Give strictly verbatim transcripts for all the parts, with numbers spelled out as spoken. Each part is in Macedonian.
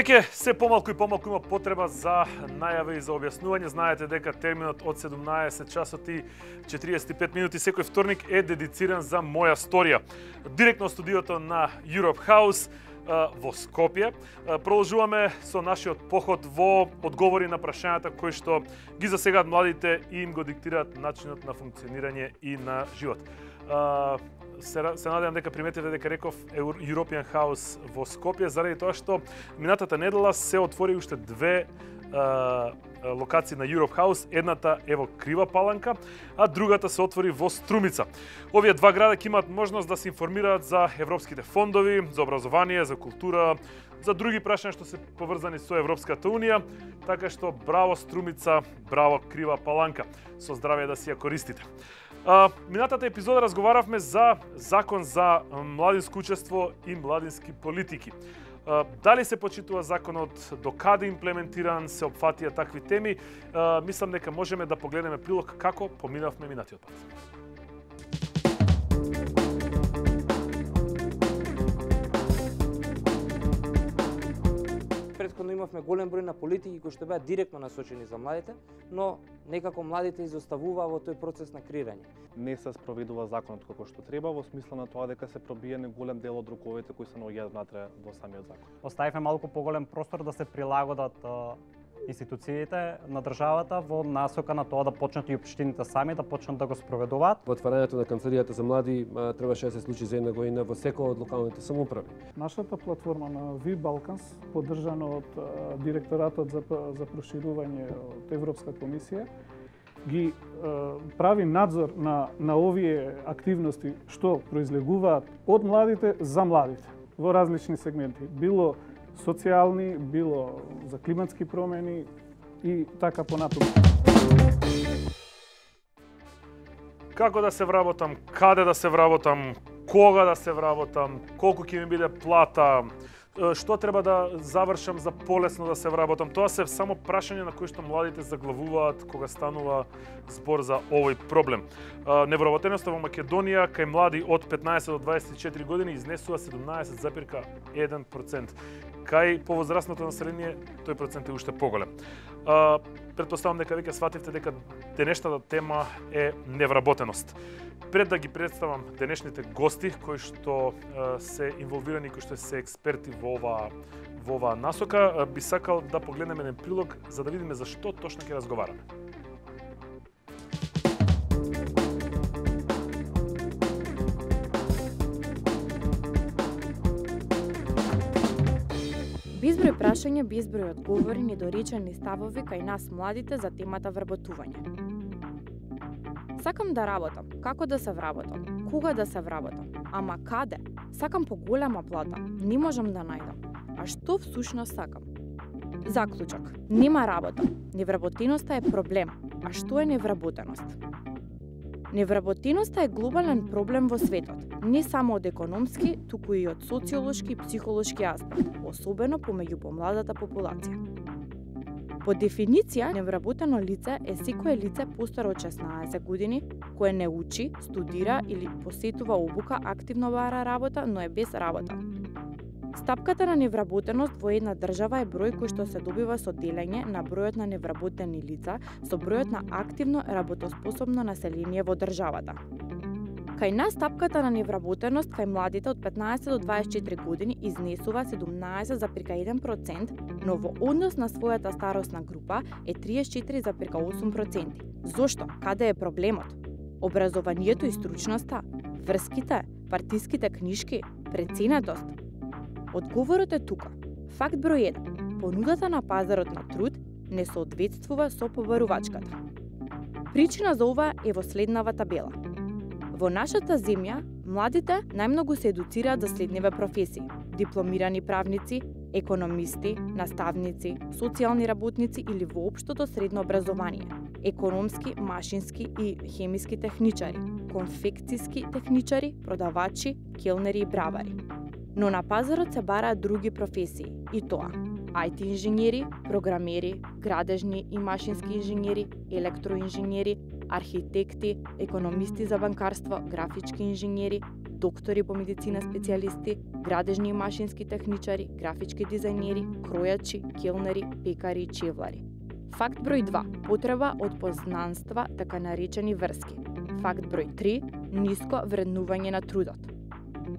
Веќе се помалку и помалку има потреба за најави и за објаснување. Знаете дека терминот од седумнаесет часот и четириесет и пет минути секој вторник е дедициран за моја сторија. Директно од студиото на Europe House во Скопје. Продолжуваме со нашиот поход во одговори на прашањата кои што ги засегаат младите и им го диктираат начинот на функционирање и на живот. Се, се надевам дека приметите дека реков European House во Скопје, заради тоа што минатата недела се отвори уште две а, локации на Europe House. Едната е во Крива Паланка, а другата се отвори во Струмица. Овие два града ќе имаат можност да се информираат за европските фондови, за образование, за култура, за други прашања што се поврзани со Европската унија, така што браво Струмица, браво Крива Паланка. Со здравје да си ја користите. А, минатата епизода разговаравме за закон за младинско учество и младински политики. А, дали се почитува законот, до каде имплементиран, се опфатија такви теми, а, мислам дека можеме да погледнеме прилог како поминавме минатиот пат. Претходно имавме голем број на политики кои што беа директно насочени за младите, но некако младите изоставуваа во тој процес на креирање. Не се спроведува законот како што треба, во смисла на тоа дека се пробиени голем дел од руковите кои се наоѓаат внатре во самиот закон. Оставивме малку поголем простор да се прилагодат институциите на државата во насока на тоа да почнат и општините сами да почнат да го спроведуваат. Отварањето на канцеларијата за млади требаше да се случи за една година во секоја од локалните самоуправи. Нашата платформа на Ви Балканс, поддржана од директоратот за за проширување од Европска комисија, ги прави надзор на на овие активности што произлегуваат од младите за младите во различни сегменти, било социјални, било за климатски промени и така понатаму. Како да се вработам, каде да се вработам, кога да се вработам, колку ќе ми биде плата, што треба да завршам за полесно да се вработам. Тоа се само прашање на кои што младите заглавуваат кога станува збор за овој проблем. Невработеноста во Македонија кај млади од петнаесет до дваесет и четири години изнесува седумнаесет запирка еден процент. Кај повозрастното население тој процент е уште поголем. Претпоставам дека веќе свативте дека денешната тема е невработеност. Пред да ги представам денешните гости кои што се инволвирани, кои што се експерти во оваа во оваа насока, би сакал да погледнеме еден прилог за да видиме за што точно ќе разговараме. Безброј прашања, безброј одговори, недоречени ставови кај нас младите за темата вработување. Сакам да работам, како да се вработам, кога да се вработам, ама каде? Сакам поголема плата, не можам да најдам. А што всушност сакам? Заклучок, нема работа. Невработеноста е проблем. А што е невработеност? Невработеноста е глобален проблем во светот, не само од економски, туку и од социолошки и психолошки аспект, особено помеѓу помладата популација. По дефиниција, невработено лице е секое лице постаро од шеснаесет години кое не учи, студира или посетува обука, активно бара работа, но е без работа. Стапката на невработеност во една држава е број кој што се добива со делење на бројот на невработени лица со бројот на активно работоспособно население во државата. Кај нас стапката на невработеност кај младите од петнаесет до дваесет и четири години изнесува седумнаесет запирка еден процент, но во однос на својата старосна група е триесет и четири запирка осум проценти. Зошто? Каде е проблемот? Образованието и стручноста? Врските? Партиските книшки? Преценетост? Одговорот е тука. Факт број еден. Понудата на пазарот на труд не соодветствува со побарувачката. Причина за ова е во следнава табела. Во нашата земја, младите најмногу се едуцираат за следниве професии: дипломирани правници, економисти, наставници, социјални работници или воопштото средно образование, економски, машински и хемиски техничари, конфекцијски техничари, продавачи, келнери и бравари. Но на пазарот се бараат други професии, и тоа: ај ти инженери, програмери, градежни и машински инженери, електроинженери, архитекти, економисти за банкарство, графички инженери, доктори по медицина специјалисти, градежни и машински техничари, графички дизајнери, кројачи, келнери, пекари и чевлари. Факт број два. Потреба од познанства, така наречени врски. Факт број три. Ниско вреднување на трудот.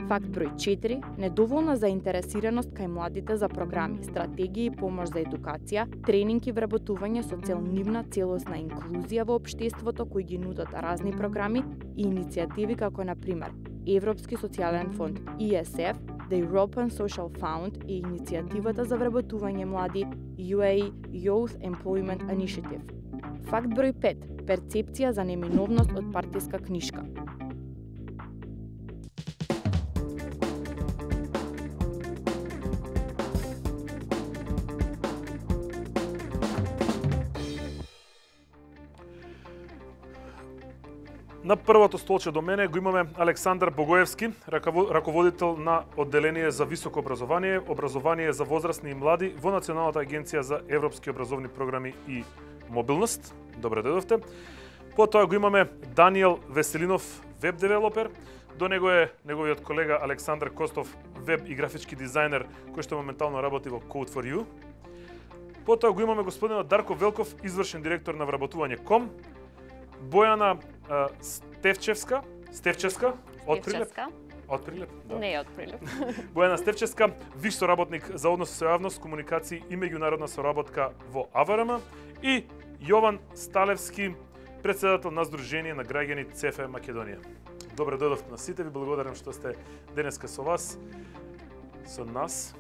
Факт број четири. Недоволна заинтересираност кај младите за програми, стратегии и помош за едукација, тренинг и вработување со цел нивна целосна инклузија во општеството кои ги нудат разни програми и иницијативи како на пример Европски социјален фонд И С Ф, The European Social Fund и иницијативата за вработување млади Ю Е И Youth Employment Initiative. Факт број пет. Перцепција за неминовност од партиска книшка. На првото столче до мене го имаме Александар Богоевски, раководител на одделение за високо образование, образование за возрастни и млади во Националната агенција за европски образовни програми и мобилност. Добре дојдовте. Потоа го имаме Даниел Веселинов, веб девелопер. До него е неговиот колега Александар Костов, веб и графички дизајнер, кој што моментално работи во Code for You. Потоа го имаме господинот Дарко Велков, извршен директор на вработување точка ком. Бојана а, Стевчевска, Стевчевска, од Прилеп. Од Прилеп? Да. Не од Прилеп. Бојана Стевчевска, виш соработник за односи со јавност, комуникации и меѓународна соработка во А В Р М и Јован Сталевски, председател на Сдружение на граѓани Ц Ф Македонија. Добре дојдовте на сите, ви благодарам што сте денеска со вас, со нас.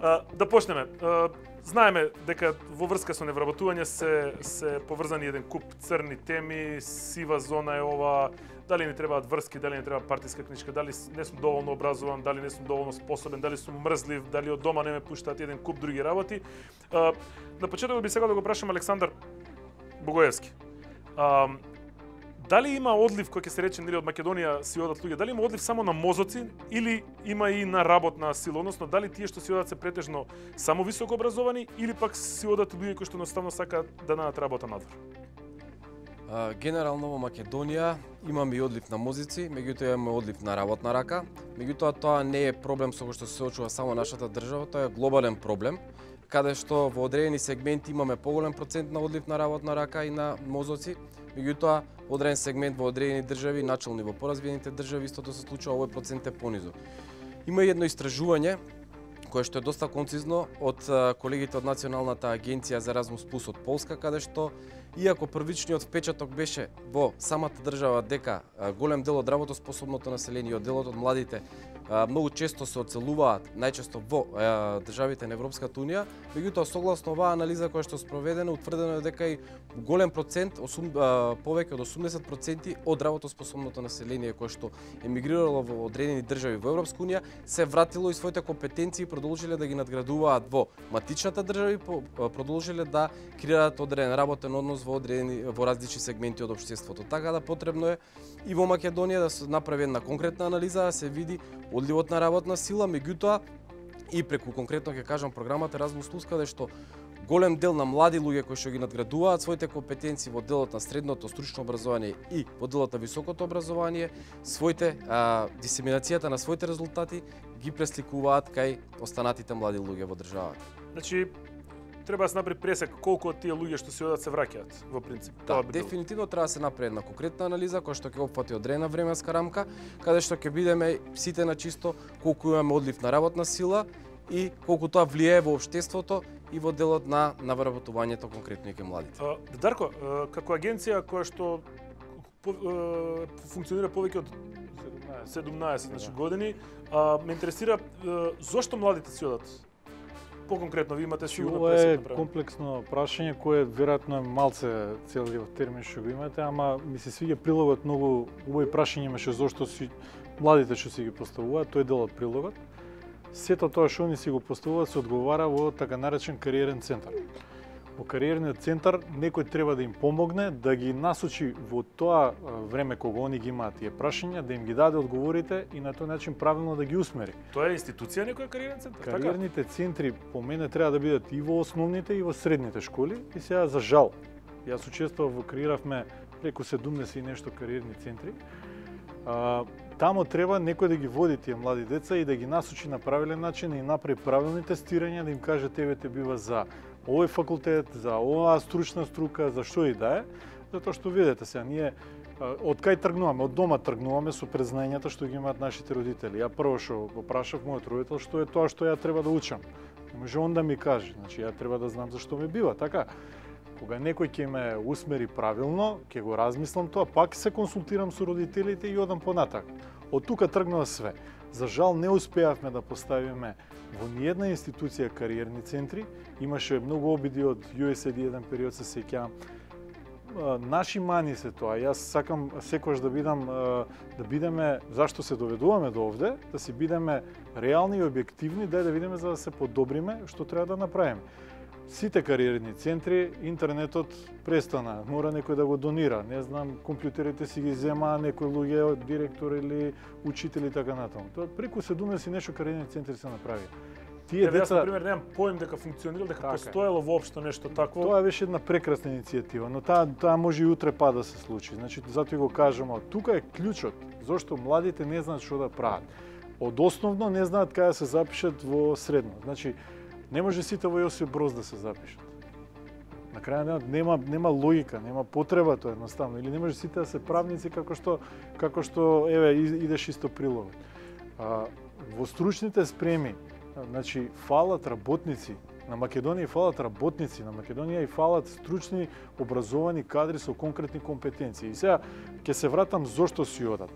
а, да почнеме. А, знаеме дека во врска со невработување се се поврзани еден куп црни теми, сива зона е ова, дали ни требаат врски, дали ни треба партиска книжка, дали не сум доволно образован, дали не сум доволно способен, дали сум мрзлив, дали од дома не ме пуштаат, еден куп други работи. А, на почетокот би сакал да го прашам Александар Богоевски. А, дали има одлив кој ќе се рече нели од Македонија си одат луѓе, дали има одлив само на мозоци или има и на работна сила, односно дали тие што си одат се претежно само високо образовани или пак си одат луѓе кои што едноставно сакаат да најдат работа надвор? Uh, генерално во Македонија имаме и одлив на мозици, меѓутоа имаме одлив на работна рака. Меѓутоа тоа не е проблем со кој што се соочува само нашата држава, тоа е глобален проблем, каде што во одредени сегменти имаме поголем процент на одлив на работна рака и на мозоци. Меѓутоа, во одреден сегмент во одредени држави, начелно и во поразвиените држави, истото се случува, овој процент е понизок. Има едно истражување кое што е доста концизно од колегите од Националната агенција за Еразмус плюс од Полска, каде што иако првичниот впечаток беше во самата држава дека голем дел од работоспособното население и од делот од младите многу често се оцелуваат најчесто во државите на Европската унија, меѓутоа согласно оваа анализа која што е спроведена, утврдено е дека и голем процент, повеќе од осумдесет проценти од работоспособното население кое што емигрирало во одредени држави во Европска унија се вратило и своите компетенции продолжиле да ги надградуваат во матичната држави, продолжиле да креираат одреден работен однос во одредени во различни сегменти од општеството. Така да потребно е и во Македонија да се направи една конкретна анализа, да се види одливот на работна сила, меѓутоа и преку конкретно ќе кажам програмата Еразмус плюс, каде што голем дел на млади луѓе кои што ги надградуваат своите компетенции во делот на средното стручно образование и во делот на високото образование, своите а, дисеминацијата на своите резултати ги пресликуваат кај останатите млади луѓе во државата. Значи треба да се направи пресек колку од тие луѓе што се одат се враќаат во принцип. Да, дефинитивно треба да се направи една конкретна анализа која што ќе опфати одредена временска рамка, каде што ќе бидеме сите на чисто колку имаме одлив на работна сила и колку тоа влијае во општеството и во делот на на вработувањето конкретно и кај младите. А, Дарко, како агенција која што по, функционира повеќе од седумнаесет значи, години, а, ме интересира зошто младите си одат? По-конкретно, ви имате сигурно пресек направено. Ова е комплексно прашање кое веројатно е малце целиот термин што го имате, ама ми се свиѓа прилогот, многу убави прашања имаше зошто си младите што си ги поставуваат, тој дел од прилогот. Сето тоа што они си го поставуваат се одговара во така наречен кариерен центар. Во кариерниот центар некој треба да им помогне, да ги насочи во тоа време кога они ги имаат тие прашања, да им ги даде одговорите и на тој начин правилно да ги усмери. Тоа е институција некој кариерен центар? Кариерните така? Центри по мене треба да бидат и во основните и во средните школи и сега за жал. Јас учествував во креиравме преку седумдесет и нешто кариерни центри. А, тамо треба некој да ги води тие млади деца и да ги насочи на правилен начин и направи правилни тестирања, да им каже тебе те бива за овој факултет, за оваа стручна струка, за што и да е, затоа што видите сега ние од кај тргнуваме, од дома тргнуваме со презнањата што ги имаат нашите родители. Ја прво што го прашав мојот родител што е тоа што ја треба да учам. Не може он да ми каже, значи ја треба да знам зашто ми бива, така. Кога некој ќе ме усмери правилно, ќе го размислам тоа, пак се консултирам со родителите и одам понатак. Од тука тргнува све. За жал не успеавме да поставиме во ниедна институција кариерни центри. Имаше многу обиди од ю ес ей ди еден период, се сеќавам. Наши мани се тоа. Јас сакам секогаш да бидам да бидеме зашто се доведуваме до овде, да си бидеме реални и објективни, дај да видиме за да се подобриме што треба да направиме. Сите кариерни центри, интернетот престана, мора некој да го донира. Не знам, компјутерите си ги зема некој луѓе, директор или учители така натаму. Тоа преку седумдесет и нешто кариерни центри се направи. Тие Еве, деца, јас, например, немам поим дека функционирал, дека така постоело воопшто нешто такво. Тоа беше една прекрасна иницијатива, но таа таа може и утре па да се случи. Значи, затоа го кажам, тука е клучот, зашто младите не знаат што да прават. Од основно не знаат каде се запишат во средно. Значи, не може сите во Јосип Броз да се запишат. На крај нема, нема нема логика, нема потреба тоа едноставно, или не може сите да се правници како што како што еве идеш исто прилог. А, во стручните спреми, значи фалат работници, на Македонија фалат работници, на Македонија и фалат стручни образовани кадри со конкретни компетенции. И сега ќе се вратам зошто си одат.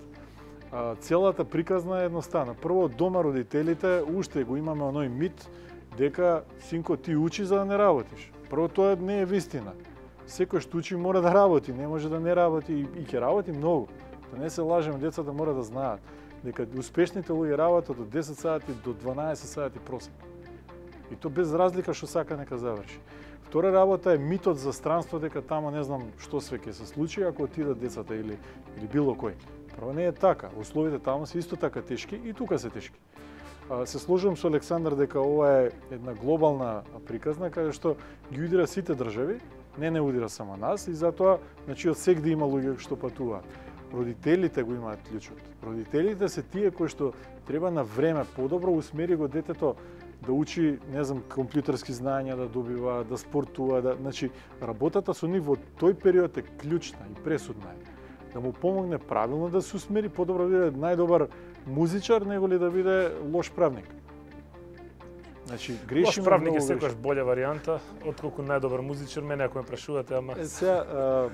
А, целата приказна е едноставна. Прво, дома родителите уште го имаме оној мит дека синко ти учи за да не работиш. Прво тоа не е вистина. Секој што учи мора да работи, не може да не работи и, и ќе работи многу. Да не се лажеме, децата мора да знаат дека успешните луѓе работат од десет сати до дванаесет сати просек. И то без разлика што сака нека заврши. Втора работа е митот за странство дека тамо не знам што све ќе се случи ако отидат децата или или било кој. Прво не е така. Условите таму се исто така тешки и тука се тешки. Се сложувам со Александар дека ова е една глобална приказна каде што ги удира сите држави, не не удира само нас и затоа значи од сегде има луѓе што патуваат. Родителите го имаат клучот. Родителите се тие кои што треба на време подобро усмери го детето да учи, не знам, компјутерски знаења да добива, да спортува, да, значи работата со нив во тој период е клучна и пресудна е. Да му помогне правилно да се усмери, подобро да биде најдобар музичар него ли да биде лош правник. Значи грешиме. Лош правник е секогаш болја варијанта отколку најдобар музичар, мене ако ме прашувате, ама е, сега, а,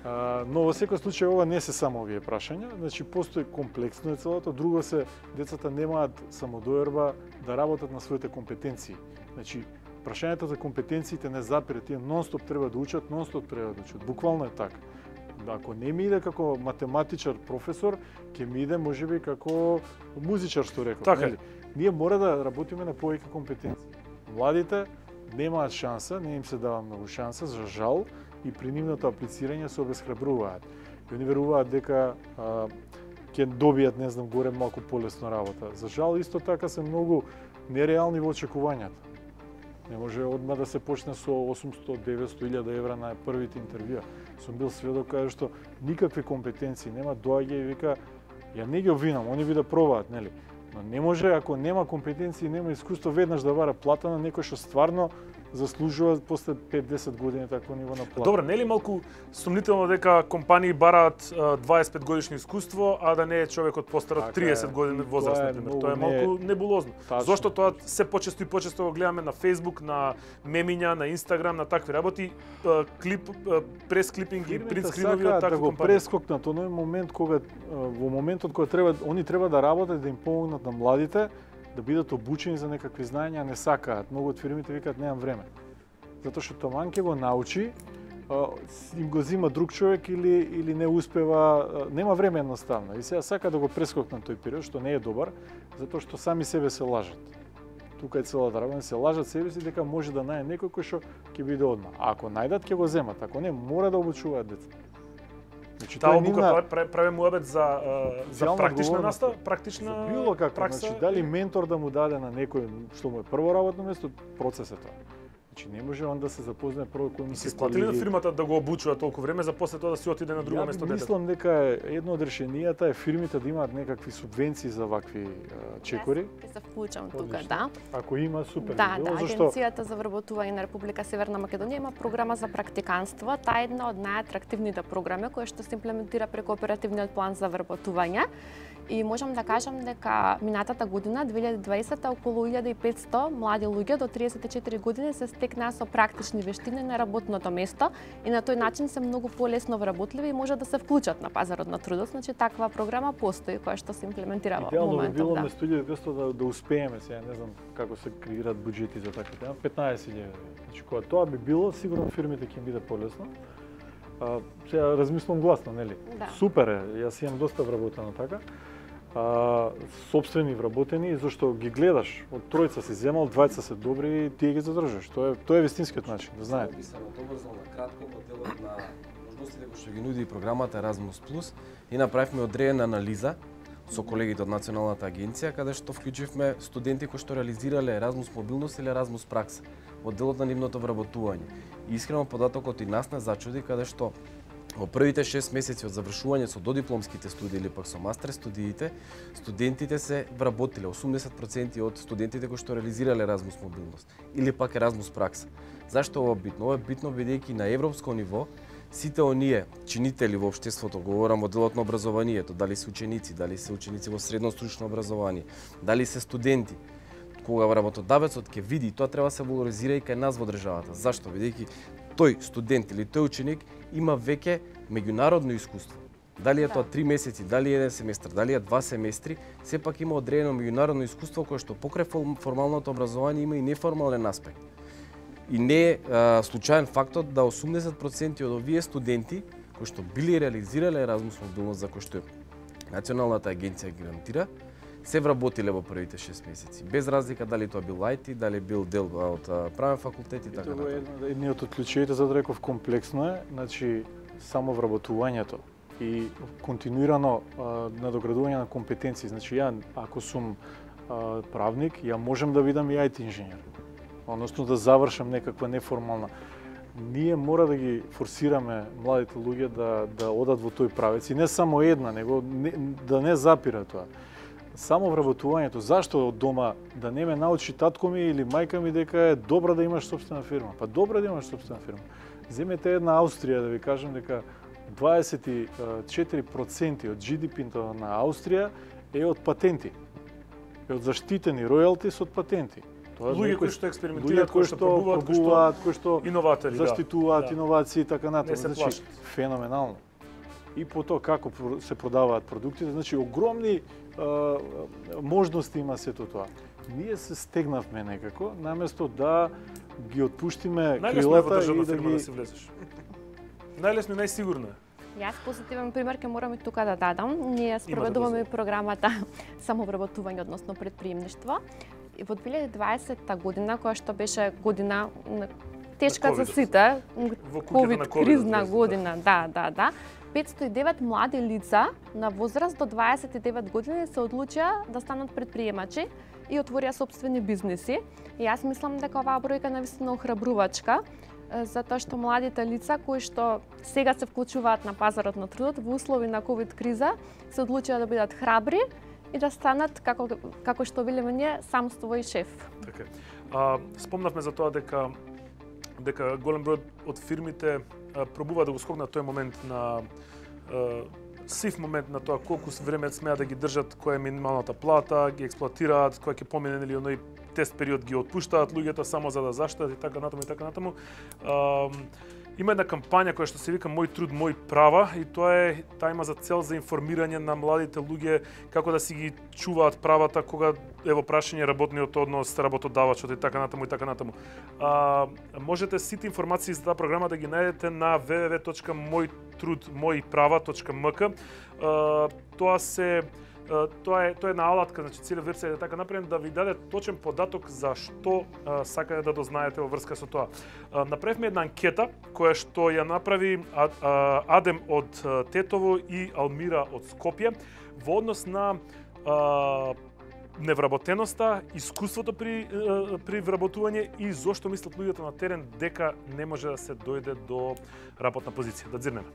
а, но во секој случај ова не се само овие прашања, значи постои комплексно е целото, друго се децата немаат самодоверба да работат на своите компетенции. Значи прашањето за компетенциите не запира, тие нонстоп треба да учат, нонстоп треба да учат. Буквално е така. Ако не ми иде како математичар професор, ќе ми иде можеби како музичар што реков. Така. Нели? Ние мора да работиме на повеќе компетенции. Младите немаат шанса, не им се дава многу шанса, за жал, и при нивното аплицирање се обесхрабруваат. И они веруваат дека а, ќе добијат, не знам, горе малку полесно работа. За жал, исто така се многу нереални во очекувањата. Не може одма да се почне со осумсто до деветсто илјади евра на првите интервјуа. Сум бил сведок каде што никакви компетенции нема, доаѓа и вика ја не ги обвинам, они ви да пробаат, нели? Но не може ако нема компетенции, нема искуство веднаш да бара плата на некој што стварно заслужува после пет-десет години такво ниво на плата. Добро, нели малку сумнително дека компании бараат дваесет и пет годишно искуство, а да не е човекот постар од триесет години возраст, например. Тоа е малку не... небулозно. Тачно. Зошто тоа се почесто и почесто го гледаме на Facebook, на мемиња, на Instagram, на такви работи, клип, пресклипинги, принтскринови од такви да го компании. прескокнат оној момент кога во моментот кога треба они треба да работат да им помогнат на младите да бидат обучени за некакви знаења, не сакаат. Многу од фирмите викаат немам време. Затоа што таман ќе го научи, им го зима друг човек или или не успева, нема време едноставно. И сега сака да го прескокнат тој период, што не е добар, затоа што сами себе се лажат. Тука е целата работа, се лажат себе си дека може да најде некој кој што ќе биде одма. А ако најдат ќе го земат, ако не мора да обучуваат деца. Значи, таа обука нивна... прави муабет за за практична настава, практична за било како, пракса. Значи, дали ментор да му даде на некој што му е прво работно место, процес е тоа. Значи не може он да се запознае прво кој му се се сплатили на колеги. фирмата да го обучува толку време за после тоа да си отиде на друго Ја место детето. мислам дека едно од решенијата е фирмите да имаат некакви субвенции за вакви а, чекори. Јас се вклучам тука, Одлично. да. Ако има, супер. Да, би било, да, зашто Агенцијата за вработување на Република Северна Македонија има програма за практиканство. Таа е една од најатрактивните програми која што се имплементира преку оперативниот план за вработување. И можам да кажам дека минатата година, две илјади и дваесета, околу илјада и петсто млади луѓе до триесет и четири години се стекнаа со практични вештини на работното место и на тој начин се многу полесно вработливи и може да се вклучат на пазарот на трудот. Значи таква програма постои која што се имплементира во идеално би моментов, било да. на студиото да, да успееме сега, не знам како се креираат буџети за такви тема, петнаесет илјади. Значи кога тоа би било, сигурно фирмите ќе им биде полесно. А, сега размислам гласно, нели? Да. Супер е, јас имам доста вработено така. А, собствени вработени, зашто ги гледаш, од тројца си земал, двајца се добри и тие ги задржаш. Тоа е тоа е вистинскиот начин, да знаете. Би се надобрзал на кратко во делот на можностите кои што ги нуди програмата Erasmus Plus и направивме одредена анализа со колегите од Националната агенција, каде што вклучивме студенти кои што реализирале Erasmus мобилност или Erasmus пракса во делот на нивното вработување. И искрено податокот и нас не зачуди, каде што во првите шест месеци од завршување со додипломските студии или пак со мастер студиите, студентите се вработиле, осумдесет проценти од студентите кои што реализирале Erasmus мобилност или пак Erasmus пракса. Зашто ова битно? Ова е битно бидејќи на европско ниво сите оние чинители во општеството, говорам во делот на образованието, дали се ученици, дали се ученици во средно стручно образование, дали се студенти, кога работодавецот ќе види, тоа треба да се валоризира и кај нас во државата. Зашто? Бидејќи тој студент или тој ученик има веќе меѓународно искуство. Дали е тоа три месеци, дали е еден семестар, дали е два семестри, сепак има одредено меѓународно искуство кое што покрај формалното образование има и неформален аспект. И не е а, случаен фактот да осумдесет проценти од овие студенти кои што били реализирале Erasmus мобилност за кој што Националната агенција гарантира, се вработиле во првите шест месеци, без разлика дали тоа бил ај ти, дали бил дел од правен факултет и така Тоа е натаму. Едниот од клучевите, за да реков, комплексно е, значи само вработувањето и континуирано а, надоградување на компетенции. Значи ја ако сум а, правник, ја можам да бидам и ај ти инженер. Односно да завршам некаква неформална. Ние мора да ги форсираме младите луѓе да да одат во тој правец и не само една, него не, да не запира тоа. Само вработувањето. Зашто од дома да не ме научи татко ми или мајка ми дека е добро да имаш сопствена фирма? Па добро да имаш сопствена фирма. Земете една Австрија, да ви кажам дека дваесет и четири проценти од джи ди пи-то на Австрија е од патенти. Е од заштитени ројалтис од патенти. Тоа луѓе кои што експериментираат, кои што пробуваат, кои што иноватори, заштитуваат да. Иновации и така натаму. Не се Значи плашат. феноменално. И по тоа како се продаваат продуктите, значи огромни а, можности има сето тоа. Ние се стегнавме некако, наместо да ги отпуштиме крилата и да ги... да си влезеш. Најлесно и најсигурно е. Јас позитивен пример ќе морам и тука да дадам. Ние спроведуваме да програмата самовработување, односно предприемништво. И во две илјади и дваесета година, која што беше година тешка за сите, ковид кризна година, да, да, да, петстотини и девет млади лица на возраст до дваесет и девет години се одлучија да станат предприемачи и отворија собствени бизнеси. И јас мислам дека оваа бројка навистина охрабрувачка, затоа што младите лица кои што сега се вклучуваат на пазарот на трудот во услови на ковид криза се одлучија да бидат храбри и да станат како како што велиме ние сам свој шеф. Така. А, спомнавме за тоа дека дека голем број од фирмите а, пробува да го скокнат тој момент на а, сив момент на тоа колку време смеат да ги држат, која е минималната плата, ги експлоатираат, која ќе помине или оној тест период ги отпуштаат луѓето само за да заштитат и така натаму и така натаму. А, има една кампања која што се вика Мој труд, мој права и тоа е таа има за цел за информирање на младите луѓе како да си ги чуваат правата кога ево прашање работниот однос, работодавачот и така натаму и така натаму. А, можете сите информации за таа програма да ги најдете на w w w точка мој труд мој права точка м к. А, тоа се Тоа е тоа е една алатка, значи цела версија е така направена да ви даде точен податок за што а, сакате да дознаете во врска со тоа. А, направивме една анкета која што ја направи а, а, Адем од Тетово и Алмира од Скопје во однос на а, невработеноста, искуството при при вработување и зошто мислат луѓето на терен дека не може да се дојде до работна позиција. Да дзирнеме.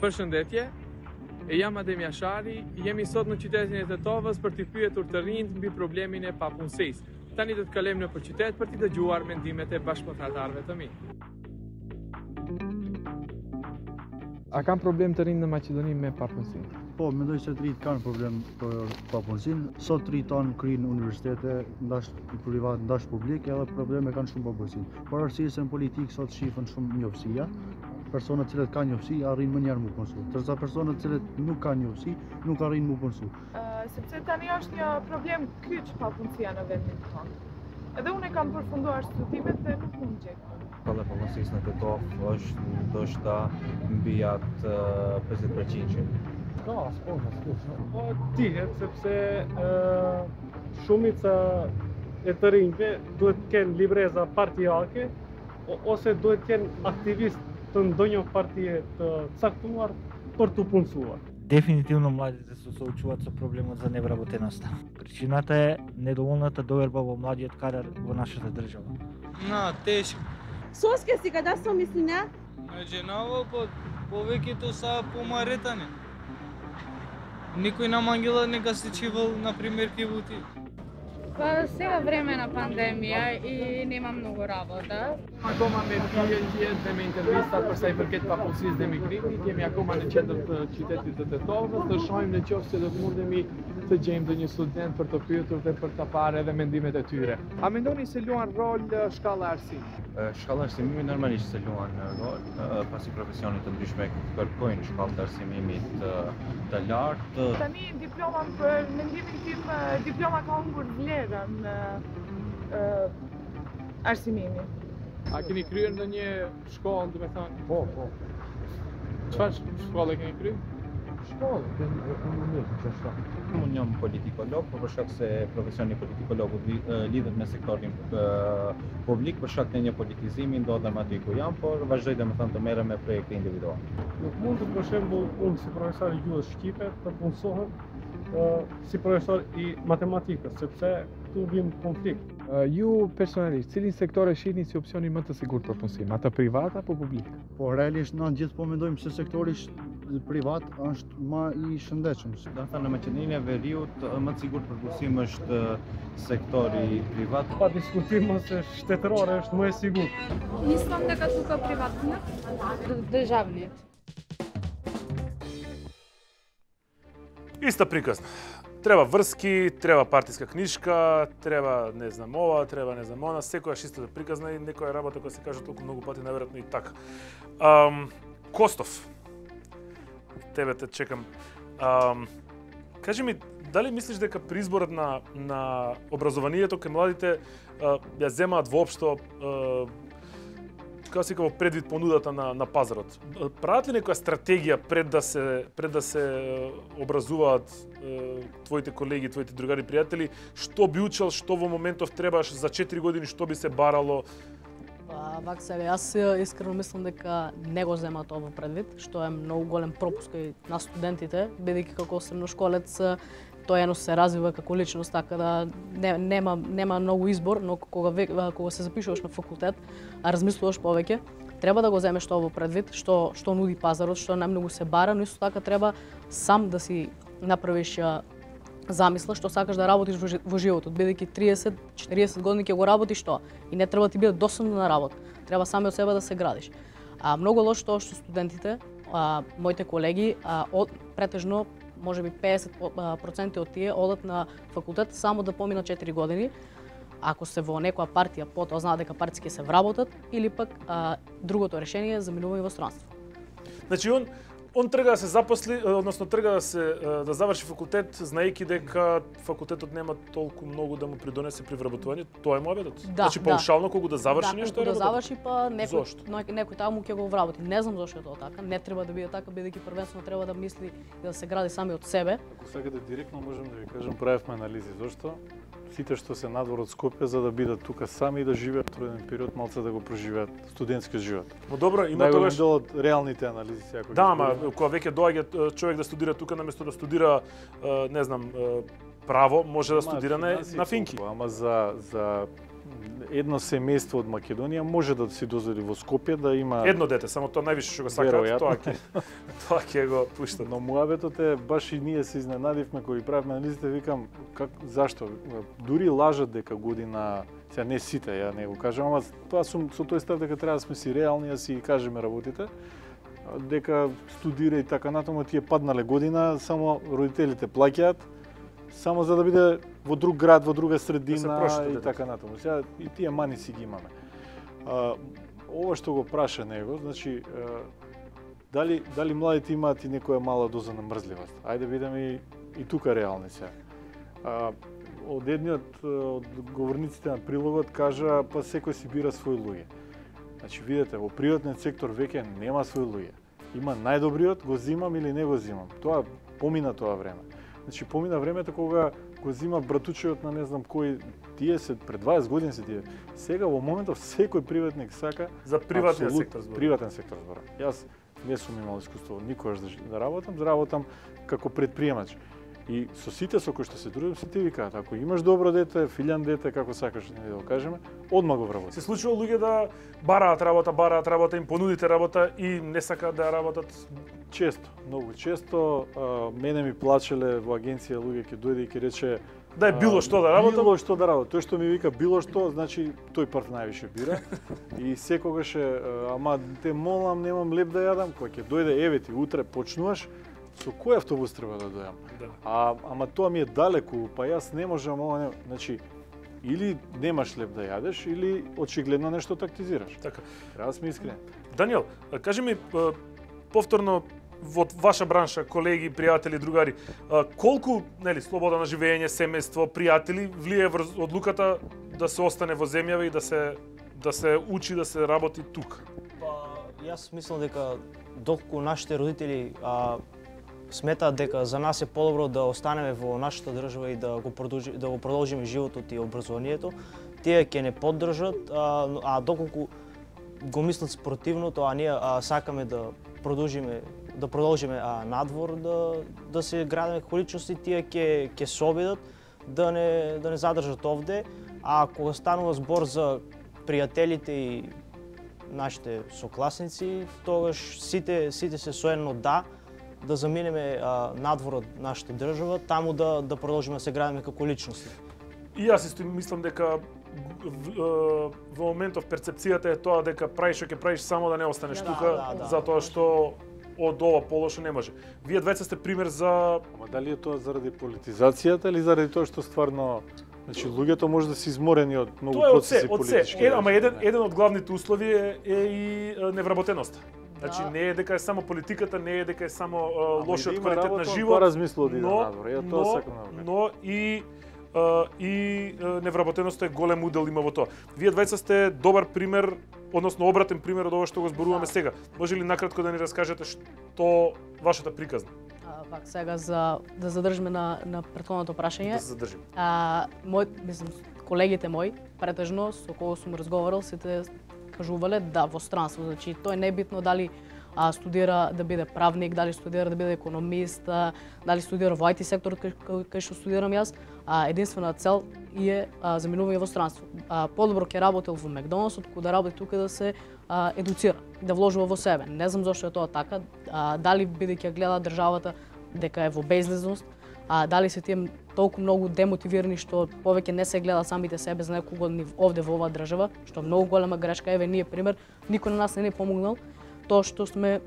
Përshëndetje, e jam Adem Jashari, jemi sot në qytetin e Tetovës për t'i pyetur të rinjt mbi problemin e papunësisë. Tani do të kalojmë nëpër qytet për t'i dëgjuar mendimet e bashkëpunëtarëve të mi. A kam problem të rinjt në Maqedoni me papunësinë? Po, mendoj se të rinjt kanë problem për papunësinë. Sot të rinjt tanë kryjnë universitete, ndash privat, ndash publik, edhe probleme kanë shumë papunësinë. Por arsye se në politikë sot shifën shumë njoftësia. Personat cilët kanë njoftësi arrin më njerë më punësu, ndërsa personat cilët nuk kanë njoftësi nuk arrin më punësu. Uh, sepse tani është një problem kyç papunësia në vendin tonë. Edhe unë kam përfunduar studimet dhe nuk mund gjej. Kolla e papunësisë në Tetov është ndoshta mbi atë pesëdhjetë përqind. Ka, s'po, s'po. Po dihet sepse uh, shumica e të rinjve duhet të kenë libreza partijake ose duhet të kenë aktivist të ndonjë partije të caktuar për të punësuar. Дефинитивно младите се соочуваат со проблемот за невработеноста. Причината е недоволната доверба во младиот кадар во нашата држава. На, тешко. Соске си када со мислина? Женаво по повеќето са помаретани. Никој нам ангела не га се чивал на пример кивути. Па сега време на пандемија и нема многу работа. Akoma me pyetje dhe me intervistat për sa i përket papunësisë dhe migrimit, jemi akoma në qendër të qytetit të Tetovës, të shohim në qoftë se do të mundemi të gjejmë ndonjë student për të pyetur dhe për ta parë edhe mendimet e tyre. A mendoni se luan rol shkalla arsimit? Shkalla arsimimi normalisht se luan rol, pasi profesionit të ndryshme kërkojnë shkallë të arsimimit të lartë. Tani diploma për mendimin tim diploma ka humbur vlerën arsimimi. A keni kryer ndonjë shkollë, do të thënë? Po, po. Çfarë shkolle keni kryer? Shkollë, ekonomisë, çfarë? Unë jam politikolog, por për shkak se profesioni politikologut lidhet me sektorin publik, për shkak të një politizimi ndodhem aty ku jam, por vazhdoj domethënë të merrem me projekte individuale. Nuk mund të për shembull unë si profesor i gjuhës shqipe të punësohem si profesor i matematikës, sepse këtu vim konflikt. Ju personalisht, cilin sektor e shihni si opsionin më të sigurt për punësim, atë privat apo publik? Po realisht na gjithë po mendojmë se sektori privat është më i shëndetshëm. Do të thënë në Maqedoninë e Veriut më të sigurt për punësim është sektori privat. Pa diskutim se shtetërore është më e sigurt. Мислам дека тука приватниот, државниот. Иста приказна. Треба врски, треба партиска книжка, треба не знам ова, треба не знам она, секојаш исто да приказна и некоја работа која се кажа толку многу пати, наверојатно и така. Um, Костов, тебе те чекам. Um, кажи ми, дали мислиш дека при изборот на, на образованието кај младите uh, ја земаат воопшто uh, како се во предвид понудата на на пазарот? Прават ли некоја стратегија пред да се пред да се образуваат е, твоите колеги, твоите другари, пријатели, што би учел, што во моментов требаш за четири години, што би се барало? Па, вак себе, јас искрено мислам дека не го земаат ово предвид, што е многу голем пропуск и на студентите, бидејќи како средношколец тој едно се развива како личност, така да не, нема нема многу избор, но кога кога се запишуваш на факултет, а размислуваш повеќе, треба да го земеш ово предвид, што што нуди пазарот, што најмногу се бара, но исто така треба сам да си направиш замисла што сакаш да работиш во, во животот, бидејќи триесет четириесет години ќе го работиш тоа и не треба ти биде досадно на работа. Треба сами од себе да се градиш. А многу лошо тоа што студентите, а, моите колеги, а, од, претежно може би педесет проценти од тие одат на факултет само да поминат четири години. Ако се во некоја партија, потоа знаат дека партиски се вработат или пак а, другото решение е заминување во странство. Значи он Он трга да се запосли, односно трга да се да заврши факултет, знаејќи дека факултетот нема толку многу да му придонесе при вработување, тоа е муабетот. Да, значи паушално колку да заврши да, нешто е да работа. заврши па некој Зошто? некој таму ќе го вработи. Не знам зошто е тоа така. Не треба да биде така, бидејќи првенствено треба да мисли и да се гради сами од себе. Ако сакате директно можам да ви кажам, правевме анализи. Зошто? Сите што се надвор од Скопје за да бидат тука сами и да живеат труден период, малце да го преживеат студентски живот. Но добро, има тогаш тогаш дел од реалните анализи сега. Да, ама кога веќе доаѓа човек да студира тука наместо да студира не знам право, може да студира на на финки. Ама за за едно семејство од Македонија може да си дозволи во Скопје да има едно дете, само тоа највише што го сакаат, тоа ќе тоа ќе го пуштат. Но муабетот е баш и ние се изненадивме кога правевме анализите, викам как зашто дури лажат дека година, сега не сите, ја не го кажам, ама тоа сум со тој став дека треба да сме си реални, да си кажеме работите, дека студира и така натаму, тие паднале година, само родителите плаќаат, само за да биде во друг град, во друга средина да и така натаму. Сега и тие мани си ги имаме. А, ова што го праша него, значи а, дали дали младите имаат и некоја мала доза на мрзливост. Ајде бидеме и, и тука реални сега. А, од едниот од говорниците на прилогот кажа па секој си бира свој луѓе. Значи видете, во приватниот сектор веќе нема свој луѓе. Има најдобриот, го зимам или не го зимам. Тоа помина тоа време. Значи помина времето кога го зима братучеот на не знам кој, тие се пред дваесет години се тие. Сега во моментов секој приватник сака за приватниот сектор зборам. Приватен сектор зборам. Јас не сум имал искуство никогаш да, да работам, работам како предприемач. И со сите со кои што се дружам, сите викаат, ако имаш добро дете, филјан дете, како сакаш да го кажеме, одма го вработи. Се случува луѓе да бараат работа, бараат работа, им понудите работа и не сакаат да работат. Често, многу често, а, мене ми плачеле во агенција луѓе ќе дојде и ќе рече да е било што да работам. Било што да работам. Тој што ми вика било што, значи тој парт највише бира. И секогаш е, ама те молам, немам леп да јадам, кога ќе дојде еве ти утре почнуваш, со кој автобус треба да дојам? Да. А ама тоа ми е далеку, па јас не можам, ова не, значи или немаш леп да јадеш или очигледно нешто тактизираш. Така. Треба да сме искрени. Даниел, кажи ми повторно во ваша бранша, колеги, пријатели, другари, колку, нели, слобода на живење, семејство, пријатели влие врз одлуката да се остане во земјава и да се да се учи, да се работи тука? Па јас мислам дека доколку нашите родители а, сметаат дека за нас е подобро да останеме во нашата држава и да го продолжи, да го продолжиме животот и образованието, тие ќе не поддржат, а, а доколку го мислат спротивното, а ние а, сакаме да продолжиме да продолжиме а, надвор да да се градиме како личности, тие ќе ќе се обидат да не да не задржат овде, а кога станува збор за пријателите и нашите сокласници, тогаш сите сите се соедно да да заминеме а, надвор од нашата држава, таму да да продолжиме да се градиме како личности. И јас исто мислам дека во моментов перцепцијата е тоа дека правиш што ќе правиш само да не останеш да, тука, да, да, затоа што од ова полошо не може. Вие двајца сте пример за... Ама дали е тоа заради политизацијата или заради тоа што стварно, значи луѓето може да се изморени од многу процеси политички? Тоа е од се, од се. Ама еден еден од главните услови е, е и невработеноста. Значи да. Не е дека е само политиката, не е дека е само uh, лошиот квалитет на живот, но, но, но и uh, и uh, невработеноста е голем удел има во тоа. Вие двајца сте добар пример, односно обратен пример од ова што го зборуваме да. Сега. Може ли накратко да ни раскажете што вашата приказна? А, пак сега за да задржиме на на претходното прашање. Да се задржиме. А мој, мислам, колегите мои претежно со кого сум разговарал, сите кажувале да во странство, значи тоа не е битно дали а, студира да биде правник, дали студира да биде економист, а, дали студира во ай ти секторот кај, кај што студирам јас, а, единствена цел е а, заминување во странство. А, подобро ќе работел во Макдоналдс, отколку да работи тука да се а, едуцира, да вложува во себе. Не знам зошто е тоа така, а, дали бидејќи гледа државата дека е во безлезност, а дали се тие толку многу демотивирани што повеќе не се гледаат самите себе за неколку години овде во оваа држава, што е многу голема грешка. Еве ние пример, никој на нас не ни помогнал тоа што сме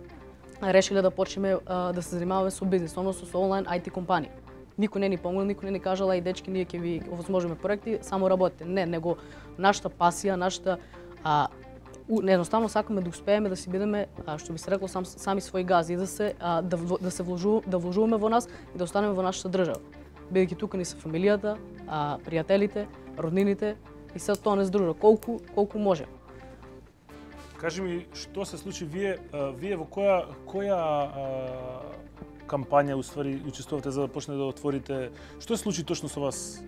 решиле да почнеме а, да се занимаваме со бизнис, односно со онлайн ай ти компанија. Никој не ни помогнал, никој не ни кажала и дечки ние ќе ви овозможиме проекти, само работите. Не, него нашата пасија, нашата а, едноставно сакаме да успееме да си бидеме, а, што би се рекло, сам, сами своји гази, да се а, да, да се вложу, да вложуваме во нас и да останеме во нашата држава. Бидејќи тука ни се фамилијата, а, пријателите, роднините и се тоа не здружа колку колку може. Кажи ми, што се случи вие, а, вие во која која а, кампања уствари учествувате за да почне да отворите? Што се случи точно со вас?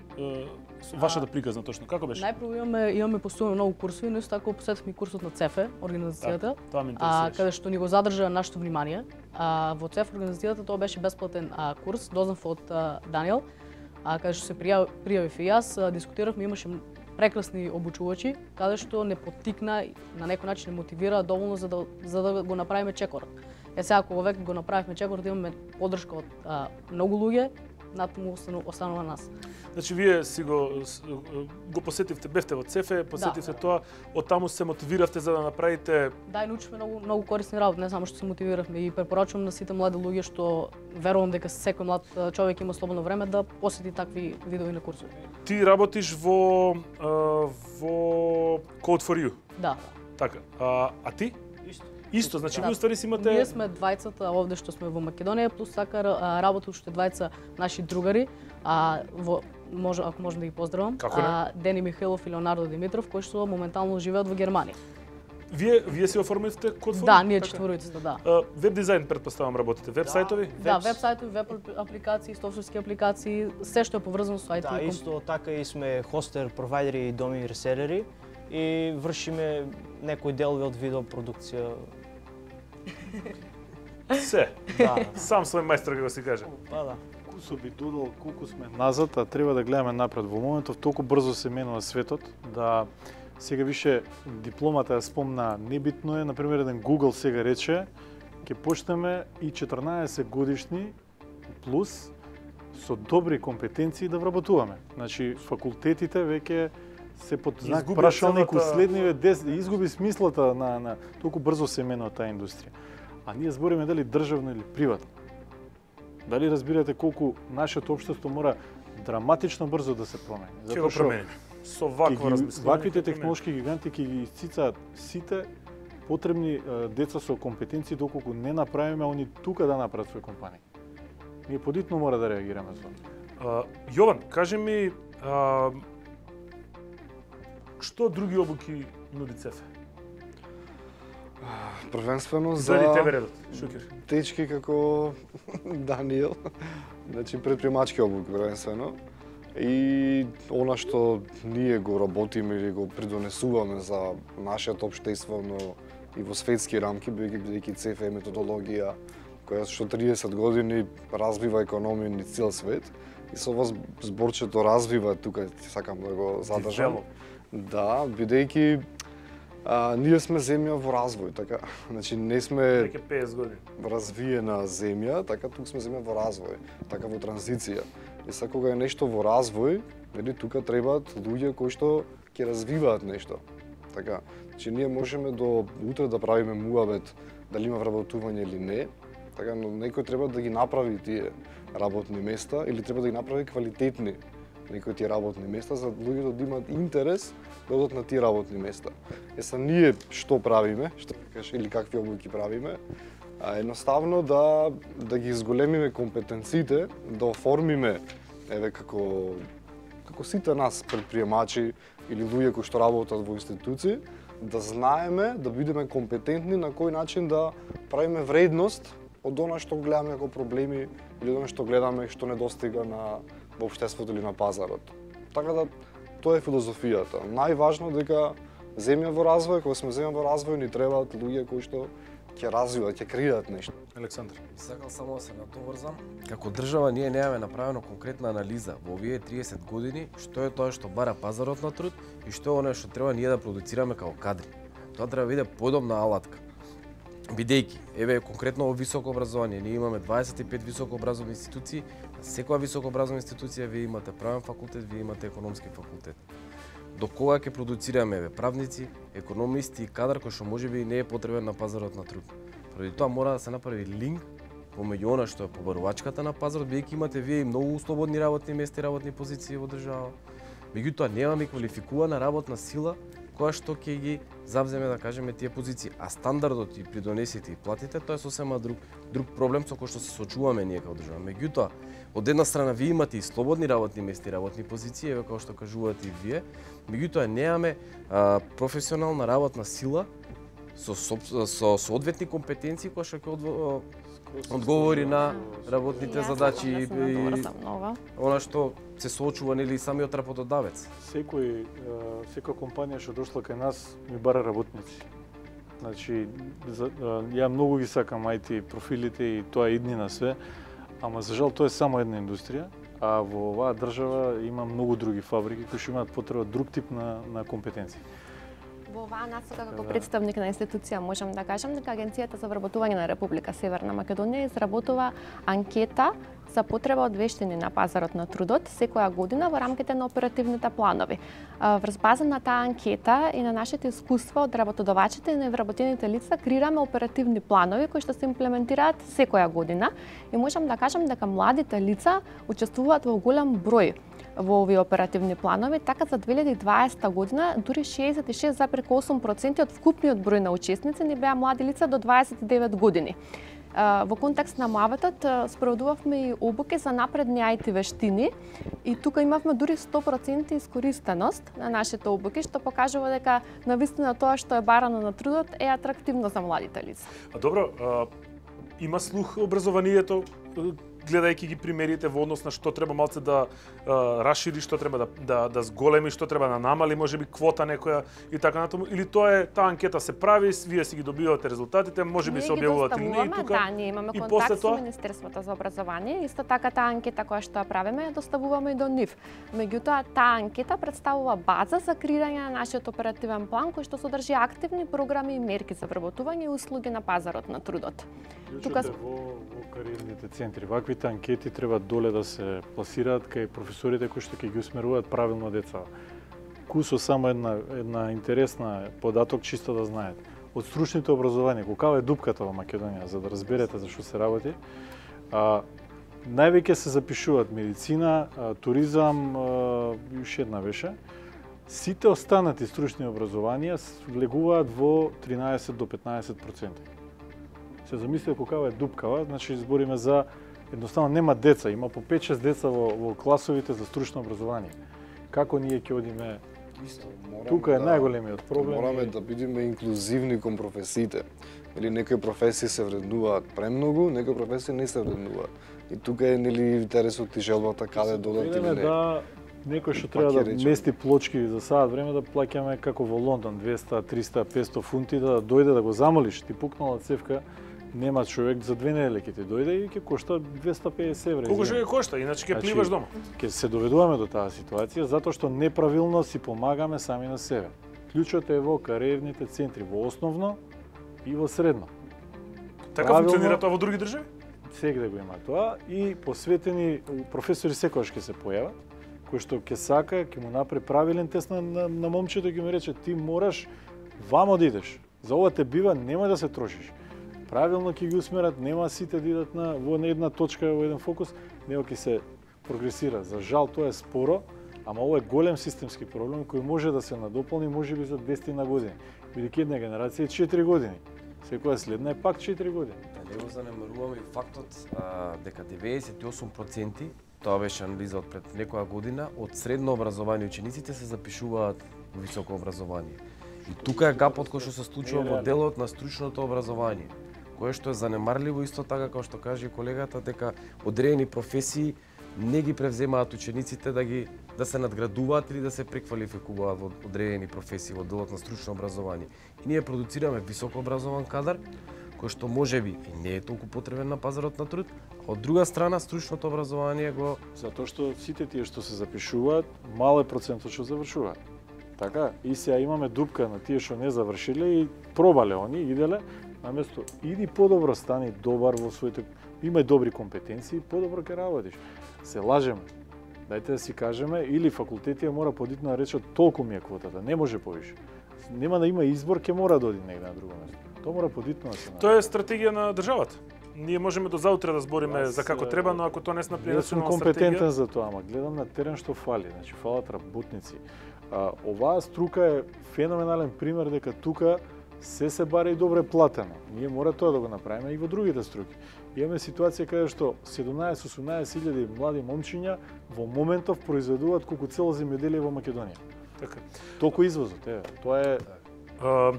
Со вашата приказна точно како беше? Најпрво имаме имаме постуваме многу курсови, но исто така посетивме курсот на ЦЕФЕ, организацијата, так, тоа ме а, каде што ни го задржа нашето внимание. А, во ЦЕФ организацијата тоа беше бесплатен а, курс, дознав од а, Даниел, а, каде што се пријав, пријавив и јас, а, дискутиравме, имаше прекрасни обучувачи, каде што не поттикна, на некој начин не мотивира доволно за да за да го направиме чекорот. Е сега кога веќе го направивме чекорот, имаме поддршка од а, многу луѓе, натаму останува нас. Значи вие си го го посетивте, бевте во ЦЕФЕ, посетивте да, тоа, од таму се мотивиравте за да направите. Да, и научивме многу многу корисни работи, не само што се мотивиравме, и препорачувам на сите млади луѓе што верувам дека секој млад човек има слободно време да посети такви видови на курсови. Ти работиш во во Code for You. Да. Така. А, а ти? Исто. Исто, значи да. вие ствари си имате. Ние сме двајцата овде што сме во Македонија, плюс така работат уште двајца наши другари, а во може ако можам да ги поздравам, а, Дени Михаилов и Леонардо Димитров, кои што моментално живеат во Германија. Вие вие си оформивте Code for You? Да, ние четворица, да. А, веб дизајн предпоставам работите, веб сајтови? Да, веб сајтови, веб апликации, софтверски апликации, се што е поврзано со ай ти. Да, исто така и сме хостер, провайдери и доми ресерери и вршиме некои делови од видеопродукција. Се. Да. Сам свој мајстор како се каже. Па да. Кусо би додал колку сме назад, а треба да гледаме напред. Во моментов толку брзо се менува светот да сега више дипломата ја спомна небитно е, например еден Google сега рече ќе почнеме и четрнаесет годишни плюс со добри компетенции да вработуваме. Значи факултетите веќе се под знак прашалник целата... уследниве дес изгуби смислата на на толку брзо се менува таа индустрија. А ние збориме дали државно или приватно. Дали разбирате колку нашето општество мора драматично брзо да се промени? Ќе го промени. Со вакво размислување. Ваквите технолошки гиганти ќе ги исцицаат сите потребни деца со компетенции доколку не направиме они тука да направат своји компании. Ние подитно мора да реагираме за тоа. Јован, кажи ми а, што други обуки нуди ЦЕФЕ? Првенствено за Заради тебе редот, Шукер. Течки како Даниел, значи предприемачки обук првенствено. И она што ние го работиме или го придонесуваме за нашето општество, но и во светски рамки, бидејќи ЦЕФЕ е методологија која што триесет години развива економија низ цел свет и со ова зборчето развива тука сакам да го задржам. Да, бидејќи А, ние сме земја во развој, така, значи не сме веќе песет години развиена земја, така тук сме земја во развој, така во транзиција. И сега кога е нешто во развој, нели тука требаат луѓе кои што ќе развиваат нешто. Така, значи ние можеме до утре да правиме муабет дали има вработување или не, така, но некој треба да ги направи тие работни места или треба да ги направи квалитетни некои тие работни места за луѓето да имаат интерес да одат на тие работни места. Е са ние што правиме, што кажеш или какви обуки правиме, а едноставно да да ги изголемиме компетенциите, да оформиме еве како како сите нас предприемачи или луѓе кои што работат во институции, да знаеме, да бидеме компетентни на кој начин да правиме вредност од она што гледаме како проблеми или од она што гледаме што недостига на во општеството или на пазарот. Така да тоа е филозофијата. Најважно дека земја во развој, кога сме земја во развој, ни требаат луѓе кои што ќе развиваат, ќе креираат нешто. Александар, сакал само да се натоврзам. Како држава ние немаме направено конкретна анализа во овие триесет години што е тоа што бара пазарот на труд и што е она што треба ние да продуцираме како кадри. Тоа треба да биде подобна алатка. Бидејќи, еве конкретно во високо образование, ние имаме дваесет и пет високо образовни институции, на секоја високо образовна институција вие имате правен факултет, вие имате економски факултет. До кога ќе продуцираме еве правници, економисти и кадар кој што можеби не е потребен на пазарот на труд. Поради тоа мора да се направи линк помеѓу она што е побарувачката на пазарот, бидејќи имате вие и многу слободни работни места и работни позиции во држава. Меѓутоа немаме квалификувана работна сила која што ќе ги завземе, да кажеме, тие позиции. А стандардот и придонесите и платите, тоа е сосема друг друг проблем со кој што се соочуваме ние како држава. Меѓутоа, од една страна вие имате и слободни работни места и работни позиции, еве како што кажувате и вие, меѓутоа немаме а, професионална работна сила со со, со соодветни компетенции кои што ќе одговори на работните задачи и она што се соочува нели самиот работодавец. Секој секоја компанија што дошла кај нас ми бара работници. Значи за, ја многу ги сакам ай ти профилите и тоа идни на све, ама за жал тоа е само една индустрија, а во оваа држава има многу други фабрики кои што имаат потреба друг тип на на компетенции. Во оваа насока како представник на институција можам да кажам дека Агенцијата за вработување на Република Северна Македонија изработува анкета за потреба од вештини на пазарот на трудот секоја година во рамките на оперативните планови. Врз база на таа анкета и на нашите искуства од работодавачите и невработените лица креираме оперативни планови кои што се имплементираат секоја година и можам да кажам дека младите лица учествуваат во голем број во овие оперативни планови, така за две илјади и дваесета година дури шеесет и шест зарез осум проценти од вкупниот број на учесници не беа млади лица до дваесет и девет години. Во контекст на муаветот спроведувавме и обуки за напредни ай ти вештини и тука имавме дури сто проценти искористеност на нашите обуки, што покажува дека навистина тоа што е барано на трудот е атрактивно за младите лица. А добро, а, има слух образованието, гледајќи ги примерите во однос на што треба малце да а, расшири, што треба да, да, да зголеми, што треба да намали, можеби квота некоја и така натаму, или тоа е, таа анкета се прави, вие си ги добивате резултатите, можеби се објавуваат или не и тука. Да, ние имаме контакт со Министерството за образование, исто така таа анкета која што ја правиме ја доставуваме и до нив. Меѓутоа, таа анкета представува база за креирање на нашиот оперативен план кој што содржи активни програми и мерки за вработување и услуги на пазарот на трудот. Тука во, во кариерните центри, ваквите анкети треба доле да се пласираат кај професорите кои што ќе ги усмеруваат правилно деца. Кусо само една една интересна податок чисто да знаете. Од стручните образование, каква е дупката во Македонија за да разберете за што се работи. А, највеќе се запишуваат медицина, а, туризам, а, уште една беше. Сите останати стручни образованија влегуваат во тринаесет до петнаесет проценти. Се замислите каква е дупкава, значи збориме за едноставно нема деца, има по пет-шест деца во, во класовите за стручно образование. Како ние ќе одиме? Исто, тука е да, најголемиот проблем. Мораме да бидеме инклузивни кон професиите. Или некои професии се вреднуваат премногу, некои професии не се вреднуваат. И тука е нели интересот и желбата каде додат или не. Да, некој што треба да мести плочки за саат време да плаќаме како во Лондон двеста, триста, петсто фунти да дојде да го замолиш, ти пукнала цевка. Нема човек за две недели ќе ти дојде и ќе кошта двеста и педесет евра. Колку ќе кошта, иначе ќе пливаш дома. Ќе се доведуваме до таа ситуација затоа што неправилно си помагаме сами на себе. Клучот е во кариерните центри, во основно и во средно. Така функционира тоа во други држави? Сегде го има тоа и посветени професори секогаш ќе се појават, кој што ќе сака, ќе му направи правилен тест на, на, на момчето и ќе му рече ти мораш вамо да идеш. За ова те бива, немој да се трошиш. Правилно ќе ги усмерат, нема сите да идат на во една точка, во еден фокус, него ќе се прогресира. За жал тоа е споро, ама ова е голем системски проблем кој може да се надополни можеби за двесте години. Бидејќи една генерација е четири години. Секоја следна е пак четири години. Да не го занемаруваме и фактот а, дека деветдесет и осум проценти, тоа беше анализа од пред некоја година, од средно образование учениците се запишуваат во високо образование. И тука е гапот кој што се случува во делот на стручното образование, кое што е занемарливо исто така како што каже колегата дека одредени професии не ги превземаат учениците да ги да се надградуваат или да се преквалификуваат во одредени професии во делот на стручно образование. И ние продуцираме високо образован кадар кој што можеби и не е толку потребен на пазарот на труд, а од друга страна стручното образование го затоа што сите тие што се запишуваат, мал е процентот што завршуваат. Така, и сега имаме дупка на тие што не завршиле и пробале они, иделе, наместо иди подобро стани добар во своите, имај добри компетенции, подобро ќе работиш. Се лажеме. Дајте да си кажеме или факултетите мора подитно да речат толку ми е квотата, не може повише. Нема да има избор, ќе мора да оди негде на друго место. Тоа мора подитно да се направи. Тоа е стратегија на државата. Ние можеме до заутре да збориме за како треба, но ако тоа не се направи национална стратегија. Јас сум компетентен за тоа, ама гледам на терен што фали. Значи фалат работници. А, оваа струка е феноменален пример дека тука се се бара и добре платено. Ние мора тоа да го направиме и во другите струки. Имаме ситуација каде што седумнаесет-осумнаесет илјади млади момчиња во моментов произведуваат колку цело земјоделие во Македонија. Така. Толку извозот, е, тоа е... А,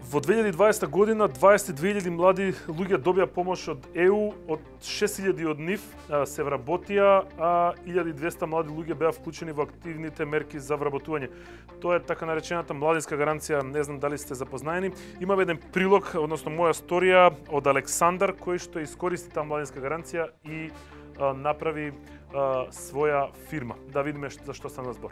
во две илјади и дваесета година дваесет и две илјади млади луѓе добија помош од Е У, од шест илјади од нив а, се вработија, а илјада и двесте млади луѓе беа вклучени во активните мерки за вработување. Тоа е така наречената младинска гаранција, не знам дали сте запознаени. Имаме еден прилог, односно моја сторија од Александар, кој што искористи таа младинска гаранција и а, направи а, своја фирма. Да видиме за што стана збор.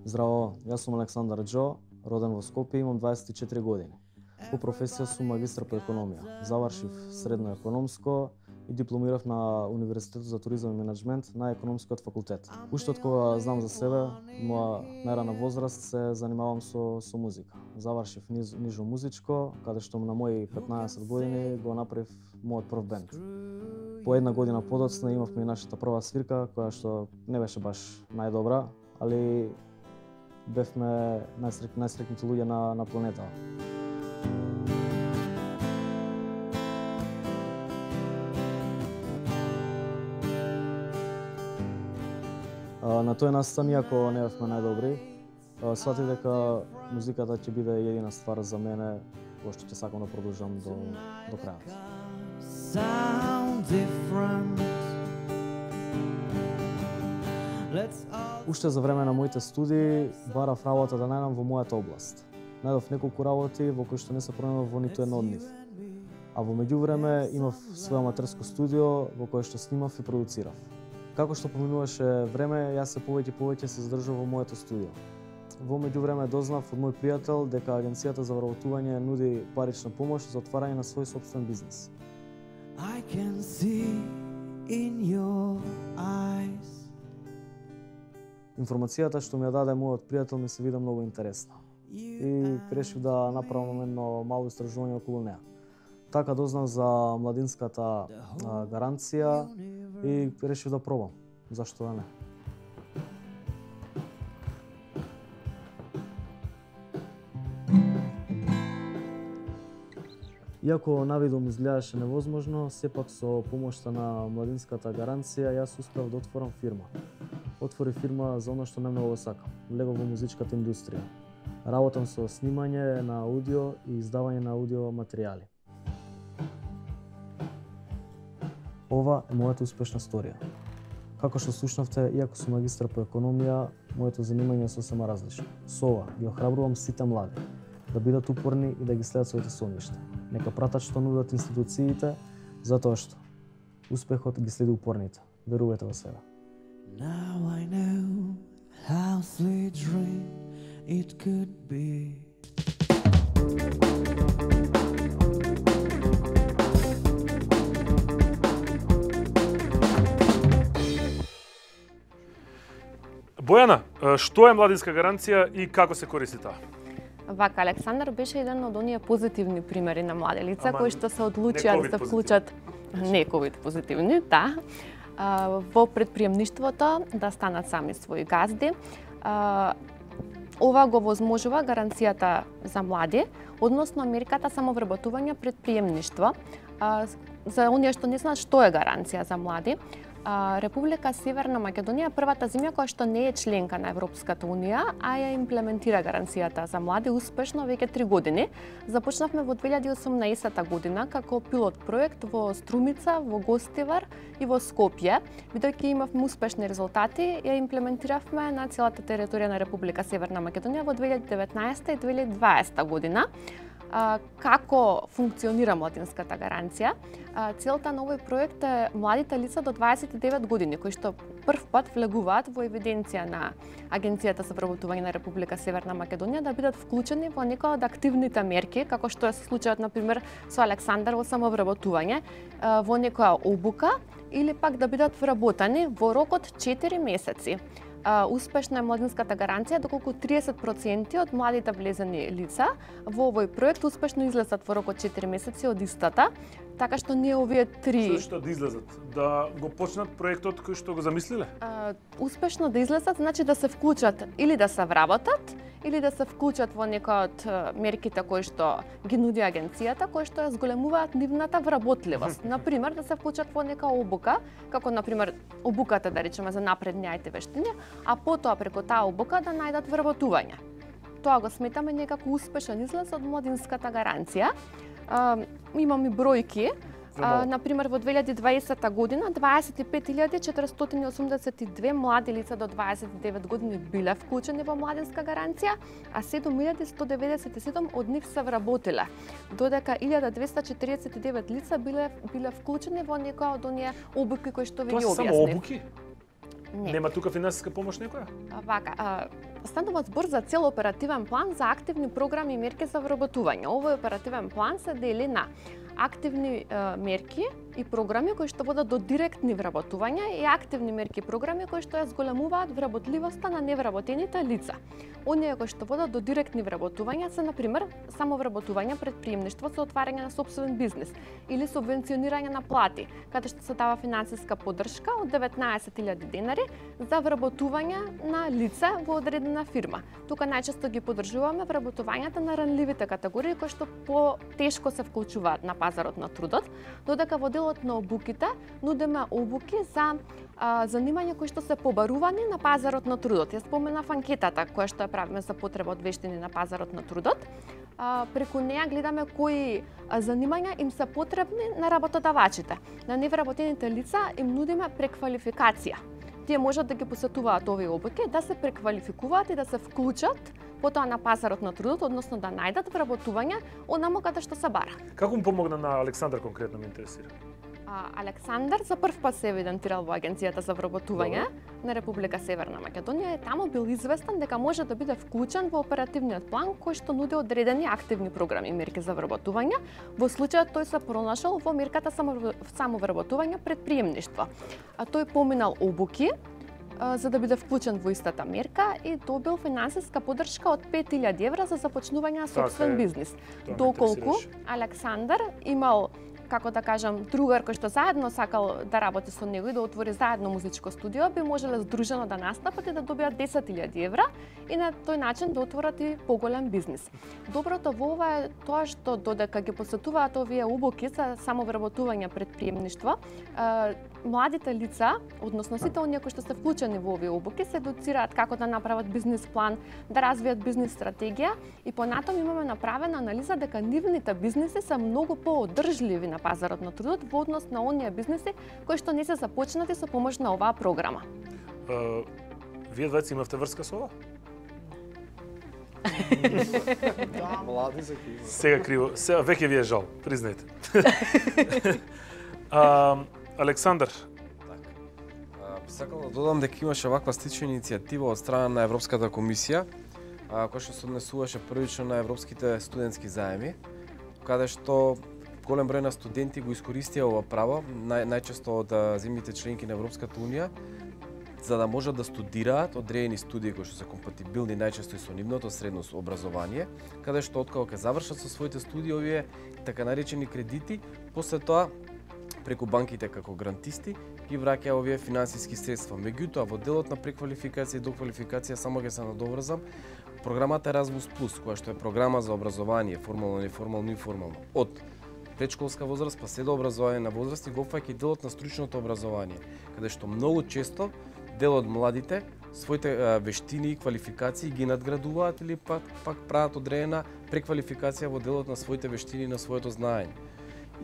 Здраво, јас сум Александар Џо, роден во Скопје, имам дваесет и четири години. По професија сум магистар по економија. Завршив средно економско и дипломирав на Универзитетот за туризам и менеджмент на економскиот факултет. Уште од кога знам за себе, моја најрана возраст се занимавам со со музика. Завршив низ, нижо музичко, каде што на мои петнаесет години го направив мојот прв бенд. По една година подоцна имавме и нашата прва свирка, која што не беше баш најдобра, али бевме најсрек, најсрекните луѓе на, на планета. На тој настан, иако не бевме најдобри, сватив дека музиката ќе биде едина ствар за мене, која што ќе сакам да продолжам до, до крајот. Уште за време на моите студии барав работа да најдам во мојата област. Најдов неколку работи во кои што не се пронајдов во ниту една од нив. А во меѓувреме имав своје аматерско студио во кое што снимав и продуцирав. Како што поминуваше време, јас се повеќе повеќе се задржав во моето студио. Во меѓувреме дознав од мој пријател дека агенцијата за вработување нуди парична помош за отварање на свој сопствен бизнес. I can see in your eyes. Информацијата што ми ја даде мојот пријател ми се вида многу интересна и решив да направам едно мало истражување околу неа. Така дознав за младинската а, гаранција и решив да пробам. Зашто да не? Иако навидом изгледаше невозможно, сепак со помошта на младинската гаранција јас успеав да отворам фирма. Отвори фирма за оно што најмногу го сакам, влегов во музичката индустрија. Работам со снимање на аудио и издавање на аудио материјали. Ова е мојата успешна сторија. Како што слушнавте, иако сум магистар по економија, моето занимање е сосема различно. Со ова ги охрабрувам сите млади да бидат упорни и да ги следат своите соништа. Нека пратат што нудат институциите, затоа што успехот ги следи упорните. Верувајте во себе. Now I know how sweet dream it could be. Бојана, што е младинска гаранција и како се користи таа? Вака, Александар беше еден од оние позитивни примери на млади лица кои што се одлучија да се вклучат, не ковид позитивни, да, во предприемништвото, да станат сами своји газди. Ова го возможува гаранцијата за млади, односно мерката самовработување предприемништво, За оние што не знаат што е гаранција за млади, Република Северна Македонија е првата земја која што не е членка на Европската унија, а ја имплементира гаранцијата за млади успешно веќе три години. Започнавме во две илјади и осумнаесета година како пилот проект во Струмица, во Гостивар и во Скопје. Бидејќи имавме успешни резултати, ја имплементиравме на целата територија на Република Северна Македонија во две илјади и деветнаесета и две илјади и дваесета година. Како функционира младинската гаранција? Целта на овој проект е младите лица до дваесет и девет години, кои што прв пат влегуваат во евиденција на Агенцијата за вработување на Република Северна Македонија, да бидат вклучени во некои од активните мерки, како што е случајот, например, со Александар во самовработување, во некоја обука, или пак да бидат вработени во рок од четири месеци. Успешна е младинската гаранција доколку триесет проценти од младите влезени лица во овој проект успешно излезат во рок од четири месеци од истата, така што ние овие три... Зашто да излезат? Да го почнат проектот кој што го замислиле? А, успешно да излезат значи да се вклучат или да се вработат, или да се вклучат во некој од мерките кои што ги нуди агенцијата, кои што ја зголемуваат нивната вработливост. Например, да се вклучат во нека обука, како например обуката, да речеме, за напредни ай ти вештини, а потоа преку таа обука да најдат вработување. Тоа го сметаме некако успешен излез од младинската гаранција. А, имаме бројки. А, например, во две илјади и дваесета година дваесет и пет илјади четиристотини и осумдесет и две млади лица до дваесет и девет години биле вклучени во младинска гаранција, а седум илјади сто деветдесет и седум од нив се вработиле, додека илјада двесте четиридесет и девет лица биле биле вклучени во некоја од оние обуки кои што ви ги објаснив. Тоа се само обуки? Не. Нема тука финансиска помош некоја? А, вака, а, станува збор за цел оперативен план за активни програми и мерки за вработување. Овој оперативен план се дели на активни е, мерки и програми кои што водат до директни вработувања и активни мерки и програми кои што ја зголемуваат вработливоста на невработените лица. Оние кои што водат до директни вработувања се, например, самовработување, предприемништво со отварање на сопствен бизнис или субвенционирање на плати, каде што се дава финансиска поддршка од деветнаесет илјади денари за вработување на лица во одредена фирма. Тука најчесто ги поддржуваме вработувањата на ранливите категории кои што потешко се вклучуваат на пазарот на трудот, додека во делот на обуките нудиме обуки за а, занимања кои што се побарувани на пазарот на трудот. Ја споменав анкетата која што ја правиме за потреба од вештини на пазарот на трудот. А, преку неа гледаме кои а, занимања им се потребни на работодавачите. На невработените лица им нудиме преквалификација. Тие можат да ги посетуваат овие обуки, да се преквалификуваат и да се вклучат потоа на пазарот на трудот, односно да најдат вработување онаму каде што се бара. Како му помогна на Александар конкретно, ме интересира? А, Александар за прв пат се евидентирал во Агенцијата за вработување на Република Северна Македонија и таму бил известен дека може да биде вклучен во оперативниот план кој што нуди одредени активни програми и мерки за вработување. Во случајот тој се пронашал во мерката самовработување предприемништво. А тој поминал обуки за да биде вклучен во истата мерка и добил финансиска поддршка од пет илјади евра за започнување на сопствен бизнис. Доколку Александар имал, како да кажам, другар кој што заедно сакал да работи со него и да отвори заедно музичко студио, би можеле здружено да настапат и да добијат десет илјади евра и на тој начин да отворат и поголем бизнис. Доброто во ова е тоа што додека ги посетуваат овие обуки за самовработување предприемништво, младите лица, односно сите оние кои што се вклучени во овие обуки, се едуцираат како да направат бизнис план, да развијат бизнис стратегија и понатаму имаме направена анализа дека нивните бизниси се многу поодржливи на пазарот на трудот во однос на оние бизниси кои што не се започнати со помош на оваа програма. Uh, вие двајца имавте врска со ова? Да, млади се криво. Сега криво. Сега веќе ви е жал, признајте. uh, Александар. Так. Сакам да додам дека имаше ваква слична иницијатива од страна на Европската комисија, која што се однесуваше првично на европските студентски заеми, каде што голем број на студенти го искористија ова право, нај, најчесто од земјите членки на Европската унија, за да можат да студираат одредени студии кои што се компатибилни најчесто и со нивното средно образование, каде што откако ќе завршат со своите студии овие така наречени кредити, после тоа преку банките како грантисти ги враќа овие финансиски средства. Меѓутоа, во делот на преквалификација и доквалификација само ќе се надоврзам, програмата Erasmus Plus, која што е програма за образование, формално, неформално и формално, од предшколска возраст па се до образование на возраст и го опфаќа и делот на стручното образование, каде што многу често дел од младите своите а, вештини и квалификации ги надградуваат или пак пак прават одредена преквалификација во делот на своите вештини и на своето знаење.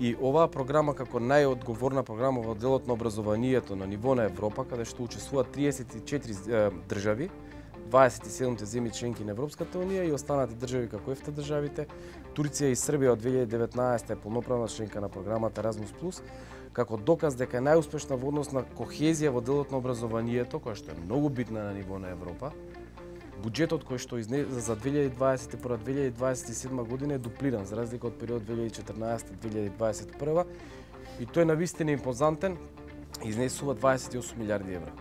И оваа програма како најодговорна програма во делот на образованието на ниво на Европа, каде што учествуваат триесет и четири е, држави, дваесет и седум земји членки на Европската унија и останати држави како ЕФТА државите, Турција и Србија од две илјади и деветнаесета е полноправна членка на програмата Еразмус плюс, како доказ дека е најуспешна во однос на кохезија во делот на образованието, која што е многу битна на ниво на Европа. Буџетот кој што изне за две илјади дваесет и прва - две илјади дваесет и седма година е дуплиран за разлика од период две илјади и четрнаесета - две илјади дваесет и прва и тој навистина импозантен, изнесува дваесет и осум милиарди евра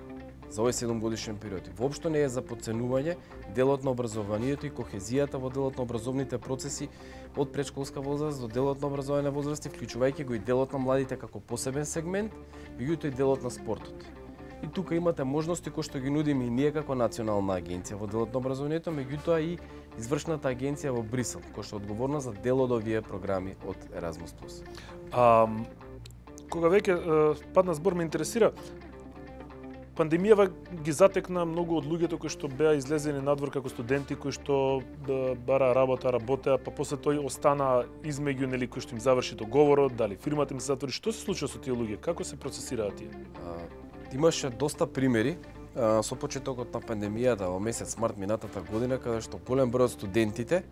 за овој седумгодишен период. И воопшто не е за подценување делот на образованието и кохезијата во делот на образовните процеси од предшколска возраст до делот на образование возрасти, вклучувајќи го и делот на младите како посебен сегмент, меѓутоа и делот на спортот. И тука имате можности кои што ги нудиме и ние како национална агенција во делот на образованието, меѓутоа и извршната агенција во Брисел, која што е одговорна за дел од овие програми од Еразмус плюс. А, кога веќе падна збор, ме интересира, пандемијава ги затекна многу од луѓето кои што беа излезени надвор како студенти, кои што бара работа, работеа, па после тој остана измеѓу, нели, кои што им заврши договорот, дали фирмата им се затвори. Што се случува со тие луѓе? Како се процесираат тие? Имаше доста примери а, со почетокот на пандемијата во месец март минатата година, каде што голем број од студентите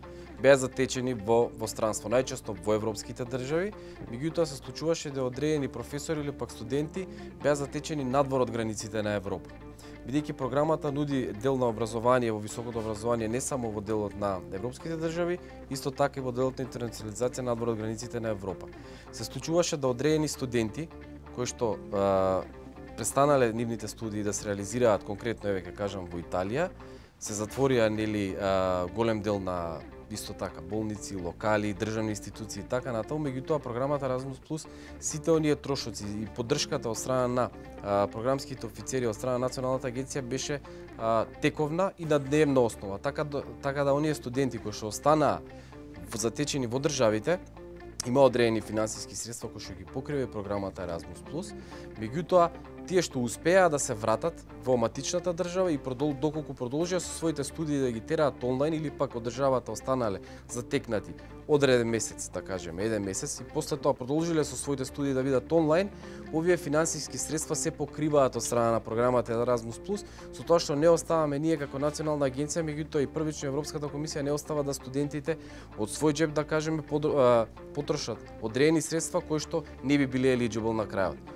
беа затечени во во странство, најчесто во европските држави, меѓутоа се случуваше да одредени професори или пак студенти беа затечени надвор од границите на Европа. Бидејќи програмата нуди дел на образование во високото образование не само во делот на европските држави, исто така и во делот на интернационализација надвор од границите на Европа. Се случуваше да одредени студенти кои што а, престанале нивните студии да се реализираат, конкретно еве ќе кажам во Италија, се затворија нели а, голем дел на исто така болници, локали, државни институции и така натаму, меѓутоа програмата Еразмус плюс сите оние трошоци и поддршката од страна на а, програмските офицери од страна на Националната агенција беше а, тековна и на дневна основа, така така да оние студенти кои што останаа затечени во државите има одредени финансиски средства кои што ги покрива програмата Еразмус плюс, меѓутоа тие што успеа да се вратат во матичната држава и продол, доколку продолжија со своите студии да ги тераат онлайн или пак од државата останале затекнати одреден месец, да кажеме, еден месец и после тоа продолжиле со своите студии да видат онлайн, овие финансиски средства се покриваат од страна на програмата Еразмус плюс, со тоа што не оставаме ние како национална агенција, меѓутоа и првично Европската комисија не остава да студентите од свој џеб, да кажеме, потрошат одредени средства кои што не би биле елиджибл на крајот.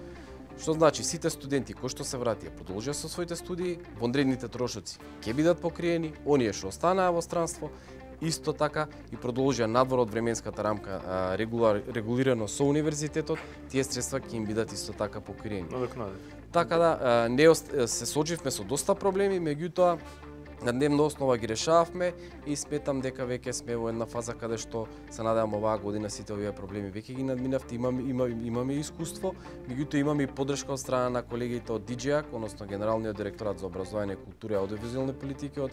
Што значи сите студенти кои што се вратија продолжија со своите студии, вонредните трошоци ќе бидат покриени, оние што останаа во странство исто така и продолжија надвор од временската рамка а, регулар, регулирано со универзитетот, тие средства ќе им бидат исто така покриени. Така да а, не се сочивме со доста проблеми, меѓутоа на дневна основа ги решававме и сметам дека веќе сме во една фаза каде што се надевам оваа година сите овие проблеми веќе ги надминавте, имаме имаме имаме искуство, меѓутоа имаме и поддршка од страна на колегите од ди џи ей ей, односно Генералниот директорат за образование, култура и аудиовизуелни политики од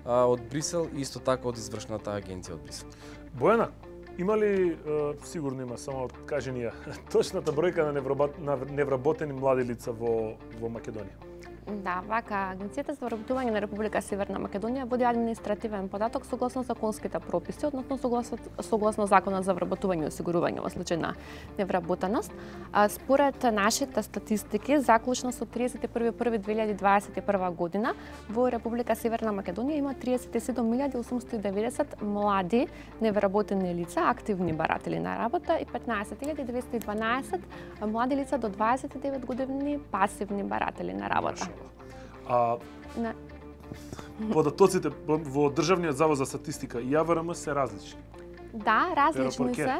а, од Брисел и исто така од извршната агенција од Брисел. Бојана, има ли, сигурно има, само кажи ни ја, точната бројка на невработени млади лица во во Македонија? Да, вака, Агенцијата за вработување на Република Северна Македонија води административен податок согласно законските прописи, односно согласно, согласно Законот за вработување и осигурување во случај на невработеност. А, според нашите статистики, заклучно со тридесет и први први две илјади дваесет и прва година, во Република Северна Македонија има триесет и седум милијади осумстотини и деветдесет млади невработени лица, активни баратели на работа и петнаесет илјади деветстотини и дванаесет млади лица до дваесет и девет години пасивни баратели на работа. А Не. податоците во Државниот завод за статистика и Ја В Р М се различни? Да, различни Перо се,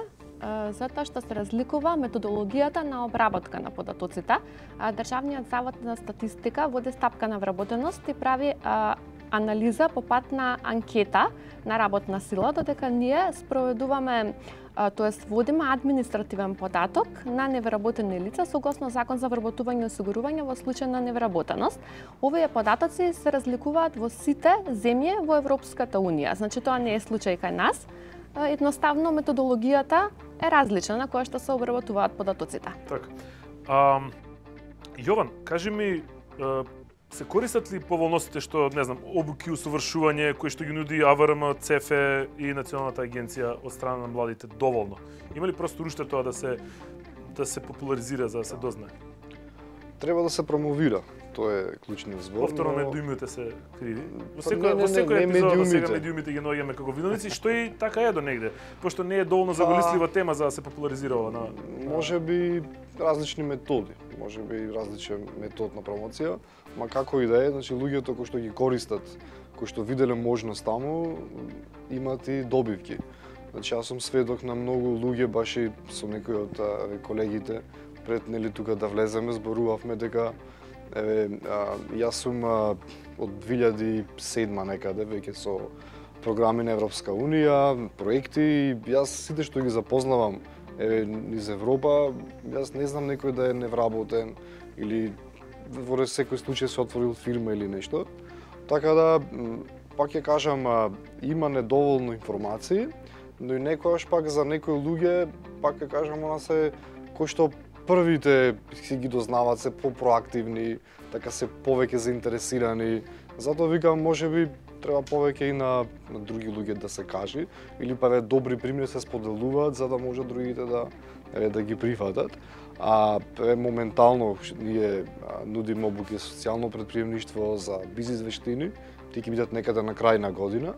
затоа што се разликува методологијата на обработка на податоците. Државниот завод за статистика води стапка на вработеност и прави анализа по пат на анкета на работна сила, додека ние спроведуваме, тоест водиме административен податок на невработени лица согласно Закон за вработување и осигурување во случај на невработеност. Овие податоци се разликуваат во сите земји во Европската унија. Значи тоа не е случај кај нас. Едноставно методологијата е различна на која што се обработуваат податоците. Така. А, Јован, кажи ми, се користат ли поволностите што, не знам, обуки, усовршување кои што ги нуди А В Р М, Ц Ф Е и Националната агенција од страна на младите доволно? Има ли просто уште тоа да се да се популаризира за да се дознае? Треба да се промовира. Тоа е клучниот збор. Повторно но... медиумите се криви. Во Па, секој не, во секој не, не епизод сега медиумите. медиумите ги наоѓаме како виновници, што и така е до негде, пошто не е доволно заголислива тема за да се популаризира ова на, на... Може би различни методи, може би различен метод на промоција, ма како и да е, значи луѓето кои што ги користат, кои што виделе можност таму, имат и добивки. Значи јас сум сведок на многу луѓе, баш и со некои од а, колегите, пред нели тука да влеземе, зборувавме дека еве а, јас сум а, од две илјади и седма некаде веќе со програми на Европска унија, проекти, и јас сите што ги запознавам еве низ Европа, јас не знам некој да е невработен или во секој случај се отворил фирма или нешто. Така да пак ќе кажам, а, има недоволно информации, но и некојаш пак за некои луѓе пак ќе кажам она се кои што првите си ги дознаваат, се по-проактивни, така се повеќе заинтересирани. Затоа викам, можеби треба повеќе и на, на други луѓе да се кажи, или па ве добри примери се споделуваат за да може другите да еве да ги прифатат. А еве моментално ние нудиме обуки за социјално претприемништво, за бизнис вештини, тие ќе бидат некаде на крај на година.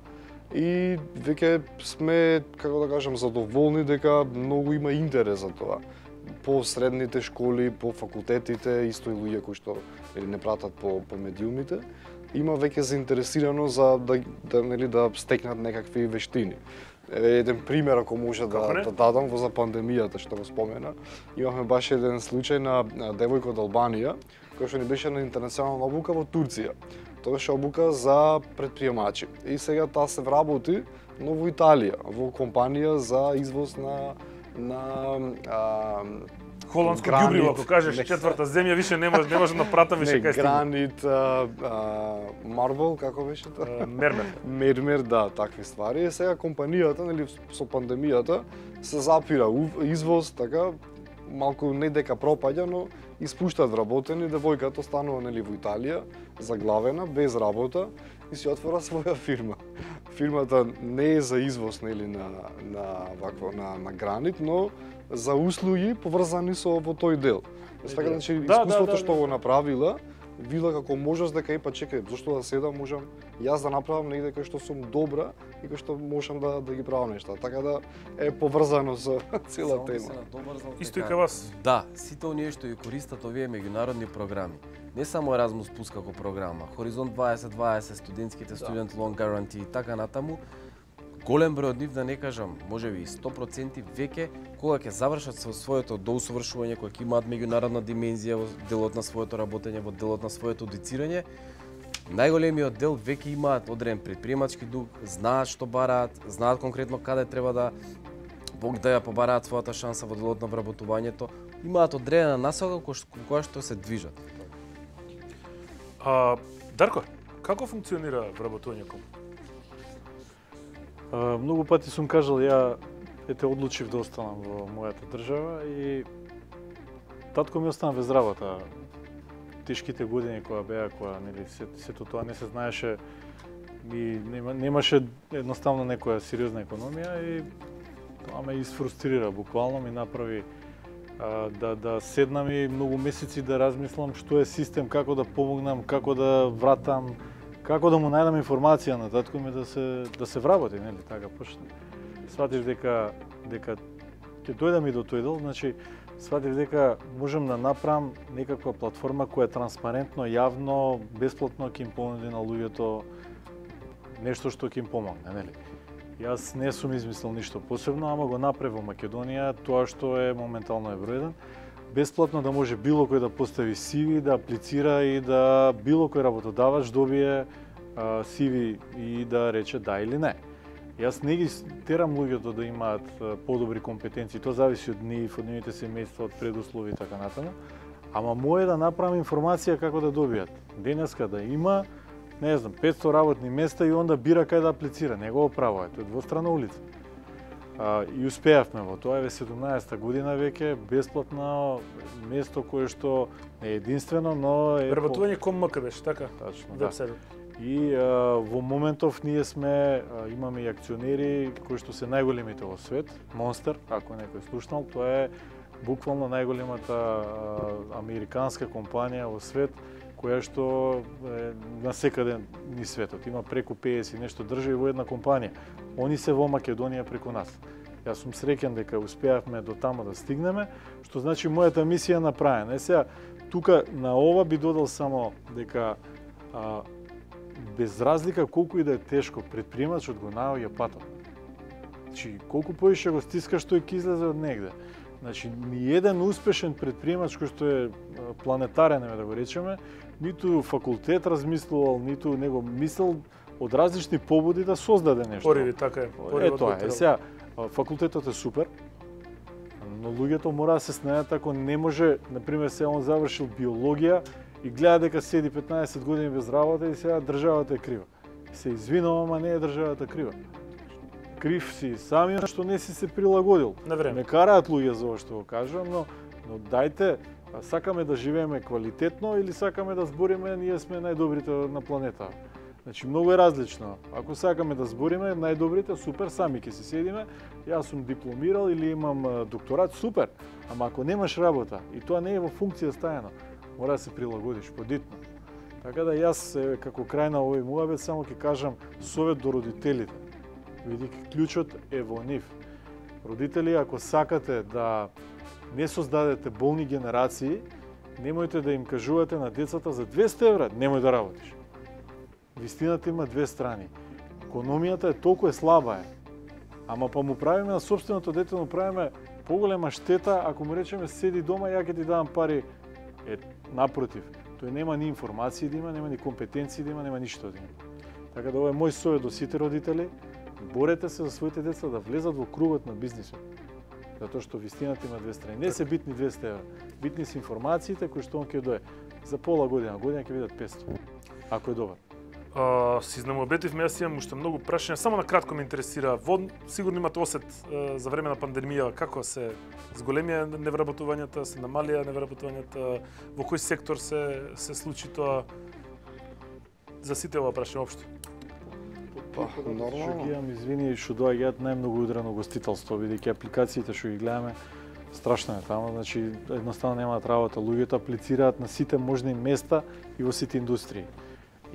И веќе сме, како да кажам, задоволни дека многу има интерес за тоа. По средните школи, по факултетите, исто и луѓе кои што нели не пратат по по медиумите, има веќе заинтересирано за да да нели да стекнат некакви вештини. Еве еден пример ако може да, да дадам во за пандемијата што го спомена. Имавме баш еден случај на, на девојка од Албанија која што ни беше на интернационална обука во Турција. Тоа беше обука за претприемачи. И сега таа се вработи но во Италија, во компанија за извоз на на а, холандско ѓубриво, ако кажеш четврта земја, више не може не може да напрата више кај гранит, а, а, марбл, како беше тоа? Мермер. Мермер, да, такви ствари. И сега компанијата, нели со пандемијата се запира извоз, така малку не дека пропаѓа, но испуштаат вработени, девојката останува нели во Италија, заглавена, без работа и си отвора своја фирма. Фирмата не е за извоз нели на на вакво на на гранит, но за услуги поврзани со во тој дел. Така значи да, искуството да, да, што да. го направила, видела како можност дека и па чекај, зошто да седам, можам јас да направам негде кај што сум добра и кај што можам да да ги правам нешта. Така да е поврзано со цела тема. Исто и кај вас. Да, сите оние што ја користат овие меѓународни програми. Не само Erasmus Plus како програма, Хоризонт дваесет дваесет, студентските Student Loan Guarantee и така натаму, голем број од нив, да не кажам, можеби и сто проценти веќе кога ќе завршат со своето доусовршување, кога ќе имаат меѓународна димензија во делот на своето работење, во делот на своето едуцирање, најголемиот дел веќе имаат одреден предприемачки дух, знаат што бараат, знаат конкретно каде треба да да ја побараат својата шанса во делот на вработувањето, имаат одредена насока која што се движат. А, Дарко, како функционира вработувањето? А, многу пати сум кажал, ја ете одлучив да останам во мојата држава и татко ми остана без работа. Тешките години која беа, која нели се, сето тоа не се знаеше и нема, немаше едноставно некоја сериозна економија и тоа ме изфрустрира, буквално ми направи а, да да седнам и многу месеци да размислам што е систем, како да помогнам, како да вратам, како да му најдам информација на татко ми да се да се вработи, нели, така почна. Сватиш дека дека ќе дојдам и до тој дел, значи сватив дека можам да направам некаква платформа која е транспарентно, јавно, бесплатно ќе им понуди на луѓето нешто што ќе им помогне, нели? Јас не сум измислил ништо посебно, ама го направив во Македонија тоа што е моментално е број еден. Бесплатно да може било кој да постави си ви, да аплицира и да било кој работодавач добие а, си ви и да рече да или не. Јас не ги терам луѓето да имаат подобри компетенции, тоа зависи од нив, од нивните семејства, од предуслови и така натаму. Ама мој е да направам информација како да добијат. Денеска да има, не знам, петсто работни места и онда бира кај да аплицира. Не го правува, тоа е двострана улица. А, и успеавме во тоа, е седумнаесетта година веќе, бесплатно место кое што е единствено, но е... Вработување ком МК беше, така? Точно, да. И а, во моментов ние сме, а, имаме и акционери кои што се најголемите во свет, Monster, ако некој слушнал, тоа е буквално најголемата а, американска компанија во свет, која што е насекаде ни светот. Има преку педесет и нешто држави во една компанија. Они се во Македонија преку нас. Јас сум среќен дека успеавме до таму да стигнеме, што значи мојата мисија направена. Е сега, тука на ова би додал само дека а, без разлика колку и да е тешко, предприемачот го наоѓа патот. Значи, колку поише го стискаш, тој ќе излезе од негде. Значи, ни еден успешен предприемач кој што е планетарен, да го речеме, ниту факултет размислувал, ниту него мислел од различни побуди да создаде нешто. Пориви, така е. Е, тоа е. Сега, факултетот е супер, но луѓето мора да се снајдат ако не може, например, се он завршил биологија и гледа дека седи петнаесет години без работа и сега државата е крива. Се извинувам, ама не е државата крива. Крив си самиот што не си се прилагодил. Ме караат луѓе за ова што го кажувам, но, но дајте, сакаме да живееме квалитетно или сакаме да збориме ние сме најдобрите на планета. Значи, многу е различно. Ако сакаме да збориме најдобрите, супер, сами ќе си седиме. Јас сум дипломирал или имам докторат, супер. Ама ако немаш работа и тоа не е во функција стајано, мора да се прилагодиш подитно. Така да јас како крај на овој муабет само ќе кажам совет до родителите. Видите, клучот е во нив. Родители, ако сакате да не создадете болни генерации, немојте да им кажувате на децата за двесте евра, немој да работиш. Вистината има две страни. Економијата е толку е слаба е. Ама па му правиме на собственото дете, му правиме поголема штета ако му речеме седи дома, ја ќе ти давам пари. Е, напротив, тој нема ни информации да има, нема ни компетенции да има, нема ништо да има. Така да ова е мој совет до сите родители, борете се за своите деца да влезат во кругот на бизнисот. Затоа што вистината има две страни. Не се битни двесте евра. Битни се информациите кои што он ќе дое. За пола година, година ќе видат петсто. Ако е добар. Uh, си знамообетивме, јас имам уште многу прашања, само на кратко ме интересира. Во, сигурно имате осет uh, за време на пандемија, како се зголемија невработувањата, се намалија невработувањата, во кој сектор се се случи тоа? За сите ова прашање општо. Па, нормално. Што ги имам, извини, што доаѓаат најмногу удрено гостителство, бидејќи апликациите што ги гледаме, страшно е таму, значи едноставно немаат работа. Луѓето аплицираат на сите можни места и во сите индустрии.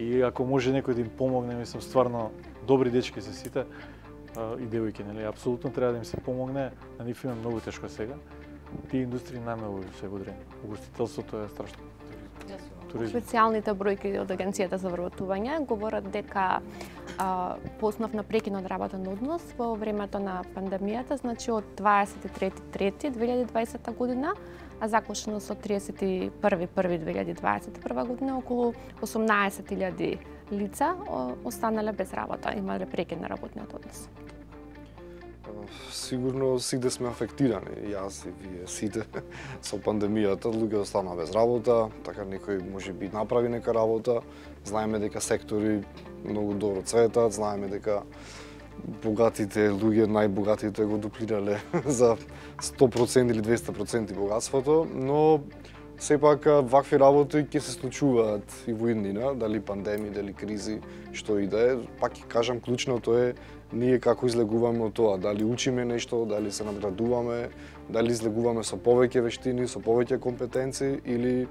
И ако може некој да им помогне, мислам стварно добри дечки се сите и девојки, нели, апсолутно треба да им се помогне, на нив има многу тешко сега. Тие индустрии најмногу се удрени. Угостителството е страшно. Туризм. Специјалните бројки од Агенцијата за вработување говорат дека а, по основ на прекинот работен однос во времето на пандемијата, значи од дваесет и трети трети две илјади и дваесета година, а заклучно со тридесет и први први две илјади и дваесет и прва година, околу осумнаесет илјади лица останале без работа, имале прекин на работниот однос. Сигурно сите сме афектирани, јас и вие сите, со пандемијата. Луѓе останаа без работа, така некој може би направи нека работа. Знаеме дека сектори многу добро цветат, знаеме дека богатите луѓе, најбогатите го дуплирале за сто проценти или двесте проценти богатството, но сепак вакви работи ќе се случуваат и во иднина, дали пандемии, дали кризи, што и да е. Пак ќе кажам, клучното е ние како излегуваме од тоа, дали учиме нешто, дали се надградуваме, дали излегуваме со повеќе вештини, со повеќе компетенции или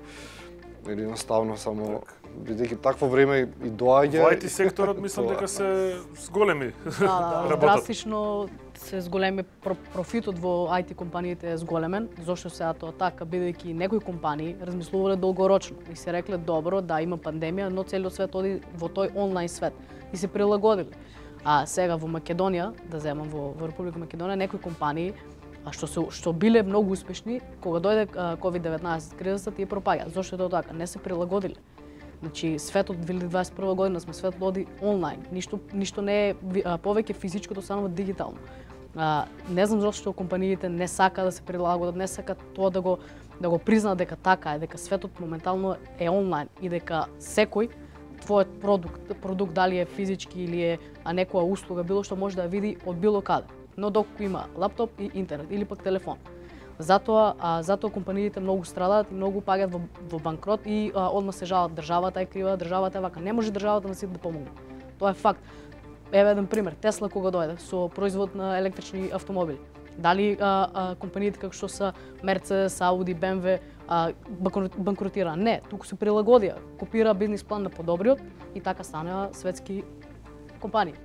или едноставно само бидејќи такво време и доаѓа. Во ай ти секторот мислам дека се зголеми. Да, да, драстично се зголеми профитот во ай ти компаниите е зголемен. Зошто сега тоа така, бидејќи некои компании размислувале долгорочно и се рекле добро да има пандемија, но целиот свет оди во тој онлайн свет и се прилагодиле. А сега во Македонија, да земам во, во Република Македонија, некои компании а што се што биле многу успешни, кога дојде ковид деветнаесет кризата, тие пропаѓа. Зошто е тоа така? Не се прилагодиле. Значи светот две илјади дваесет и прва година сме светот оди онлайн. Ништо ништо не е повеќе физичкото, само дигитално. А, не знам зошто компаниите не сака да се прилагодат, не сака тоа да го да го признаат дека така е, дека светот моментално е онлайн и дека секој твојот продукт, продукт дали е физички или е а некоја услуга, било што може да ја види од било каде. но доколку има лаптоп и интернет или пак телефон. Затоа, а, затоа компаниите многу страдаат и многу паѓаат во, во банкрот и а, одма се жалат државата е крива, државата е вака. Не може државата на сите да помогне. Тоа е факт. Еве еден пример, Тесла кога дојде со производ на електрични автомобили. Дали а, а, компаниите како што се Мерцедес, Ауди, Бе Ем Ве а, банкротира? Не, туку се прилагодија, копира бизнис план на подобриот и така станаа светски компании.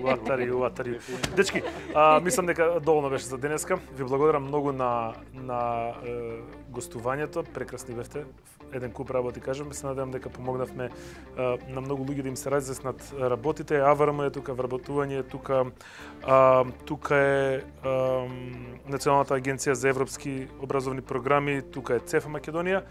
Уатари, уатари. Дечки, а, мислам дека доволно беше за денеска. Ви благодарам многу на на е, гостувањето. Прекрасни бевте. Еден куп работи кажам, се надевам дека помогнавме е, на многу луѓе да им се разјаснат работите. АВРМ е тука, вработување е тука. А, тука е а, Националната агенција за европски образовни програми, тука е ЦЕФ Македонија.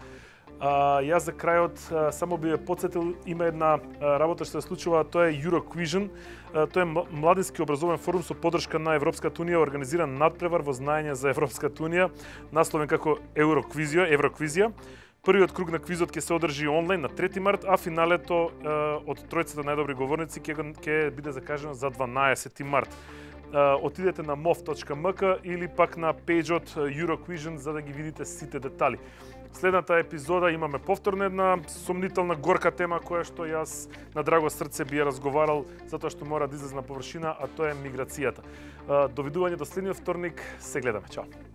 А, јас за крајот а, само би ја потсетил, има една а, работа што се случува, тоа е Euroquision. А, тоа е младински образовен форум со поддршка на Европската унија, организиран надпревар во знаење за Европската унија, насловен како Евроквизија, Евроквизија. Првиот круг на квизот ќе се одржи онлайн на трети март, а финалето а, од тројцата најдобри говорници ќе ќе биде закажано за дванаесети март. Uh, отидете на мов точка ем ка или пак на пејџот Euroquision за да ги видите сите детали. Следната епизода имаме повторно една сомнителна горка тема која што јас на драго срце би ја разговарал затоа што мора да излезе на површина, а тоа е миграцијата. Uh, довидување до следниот вторник, се гледаме, чао.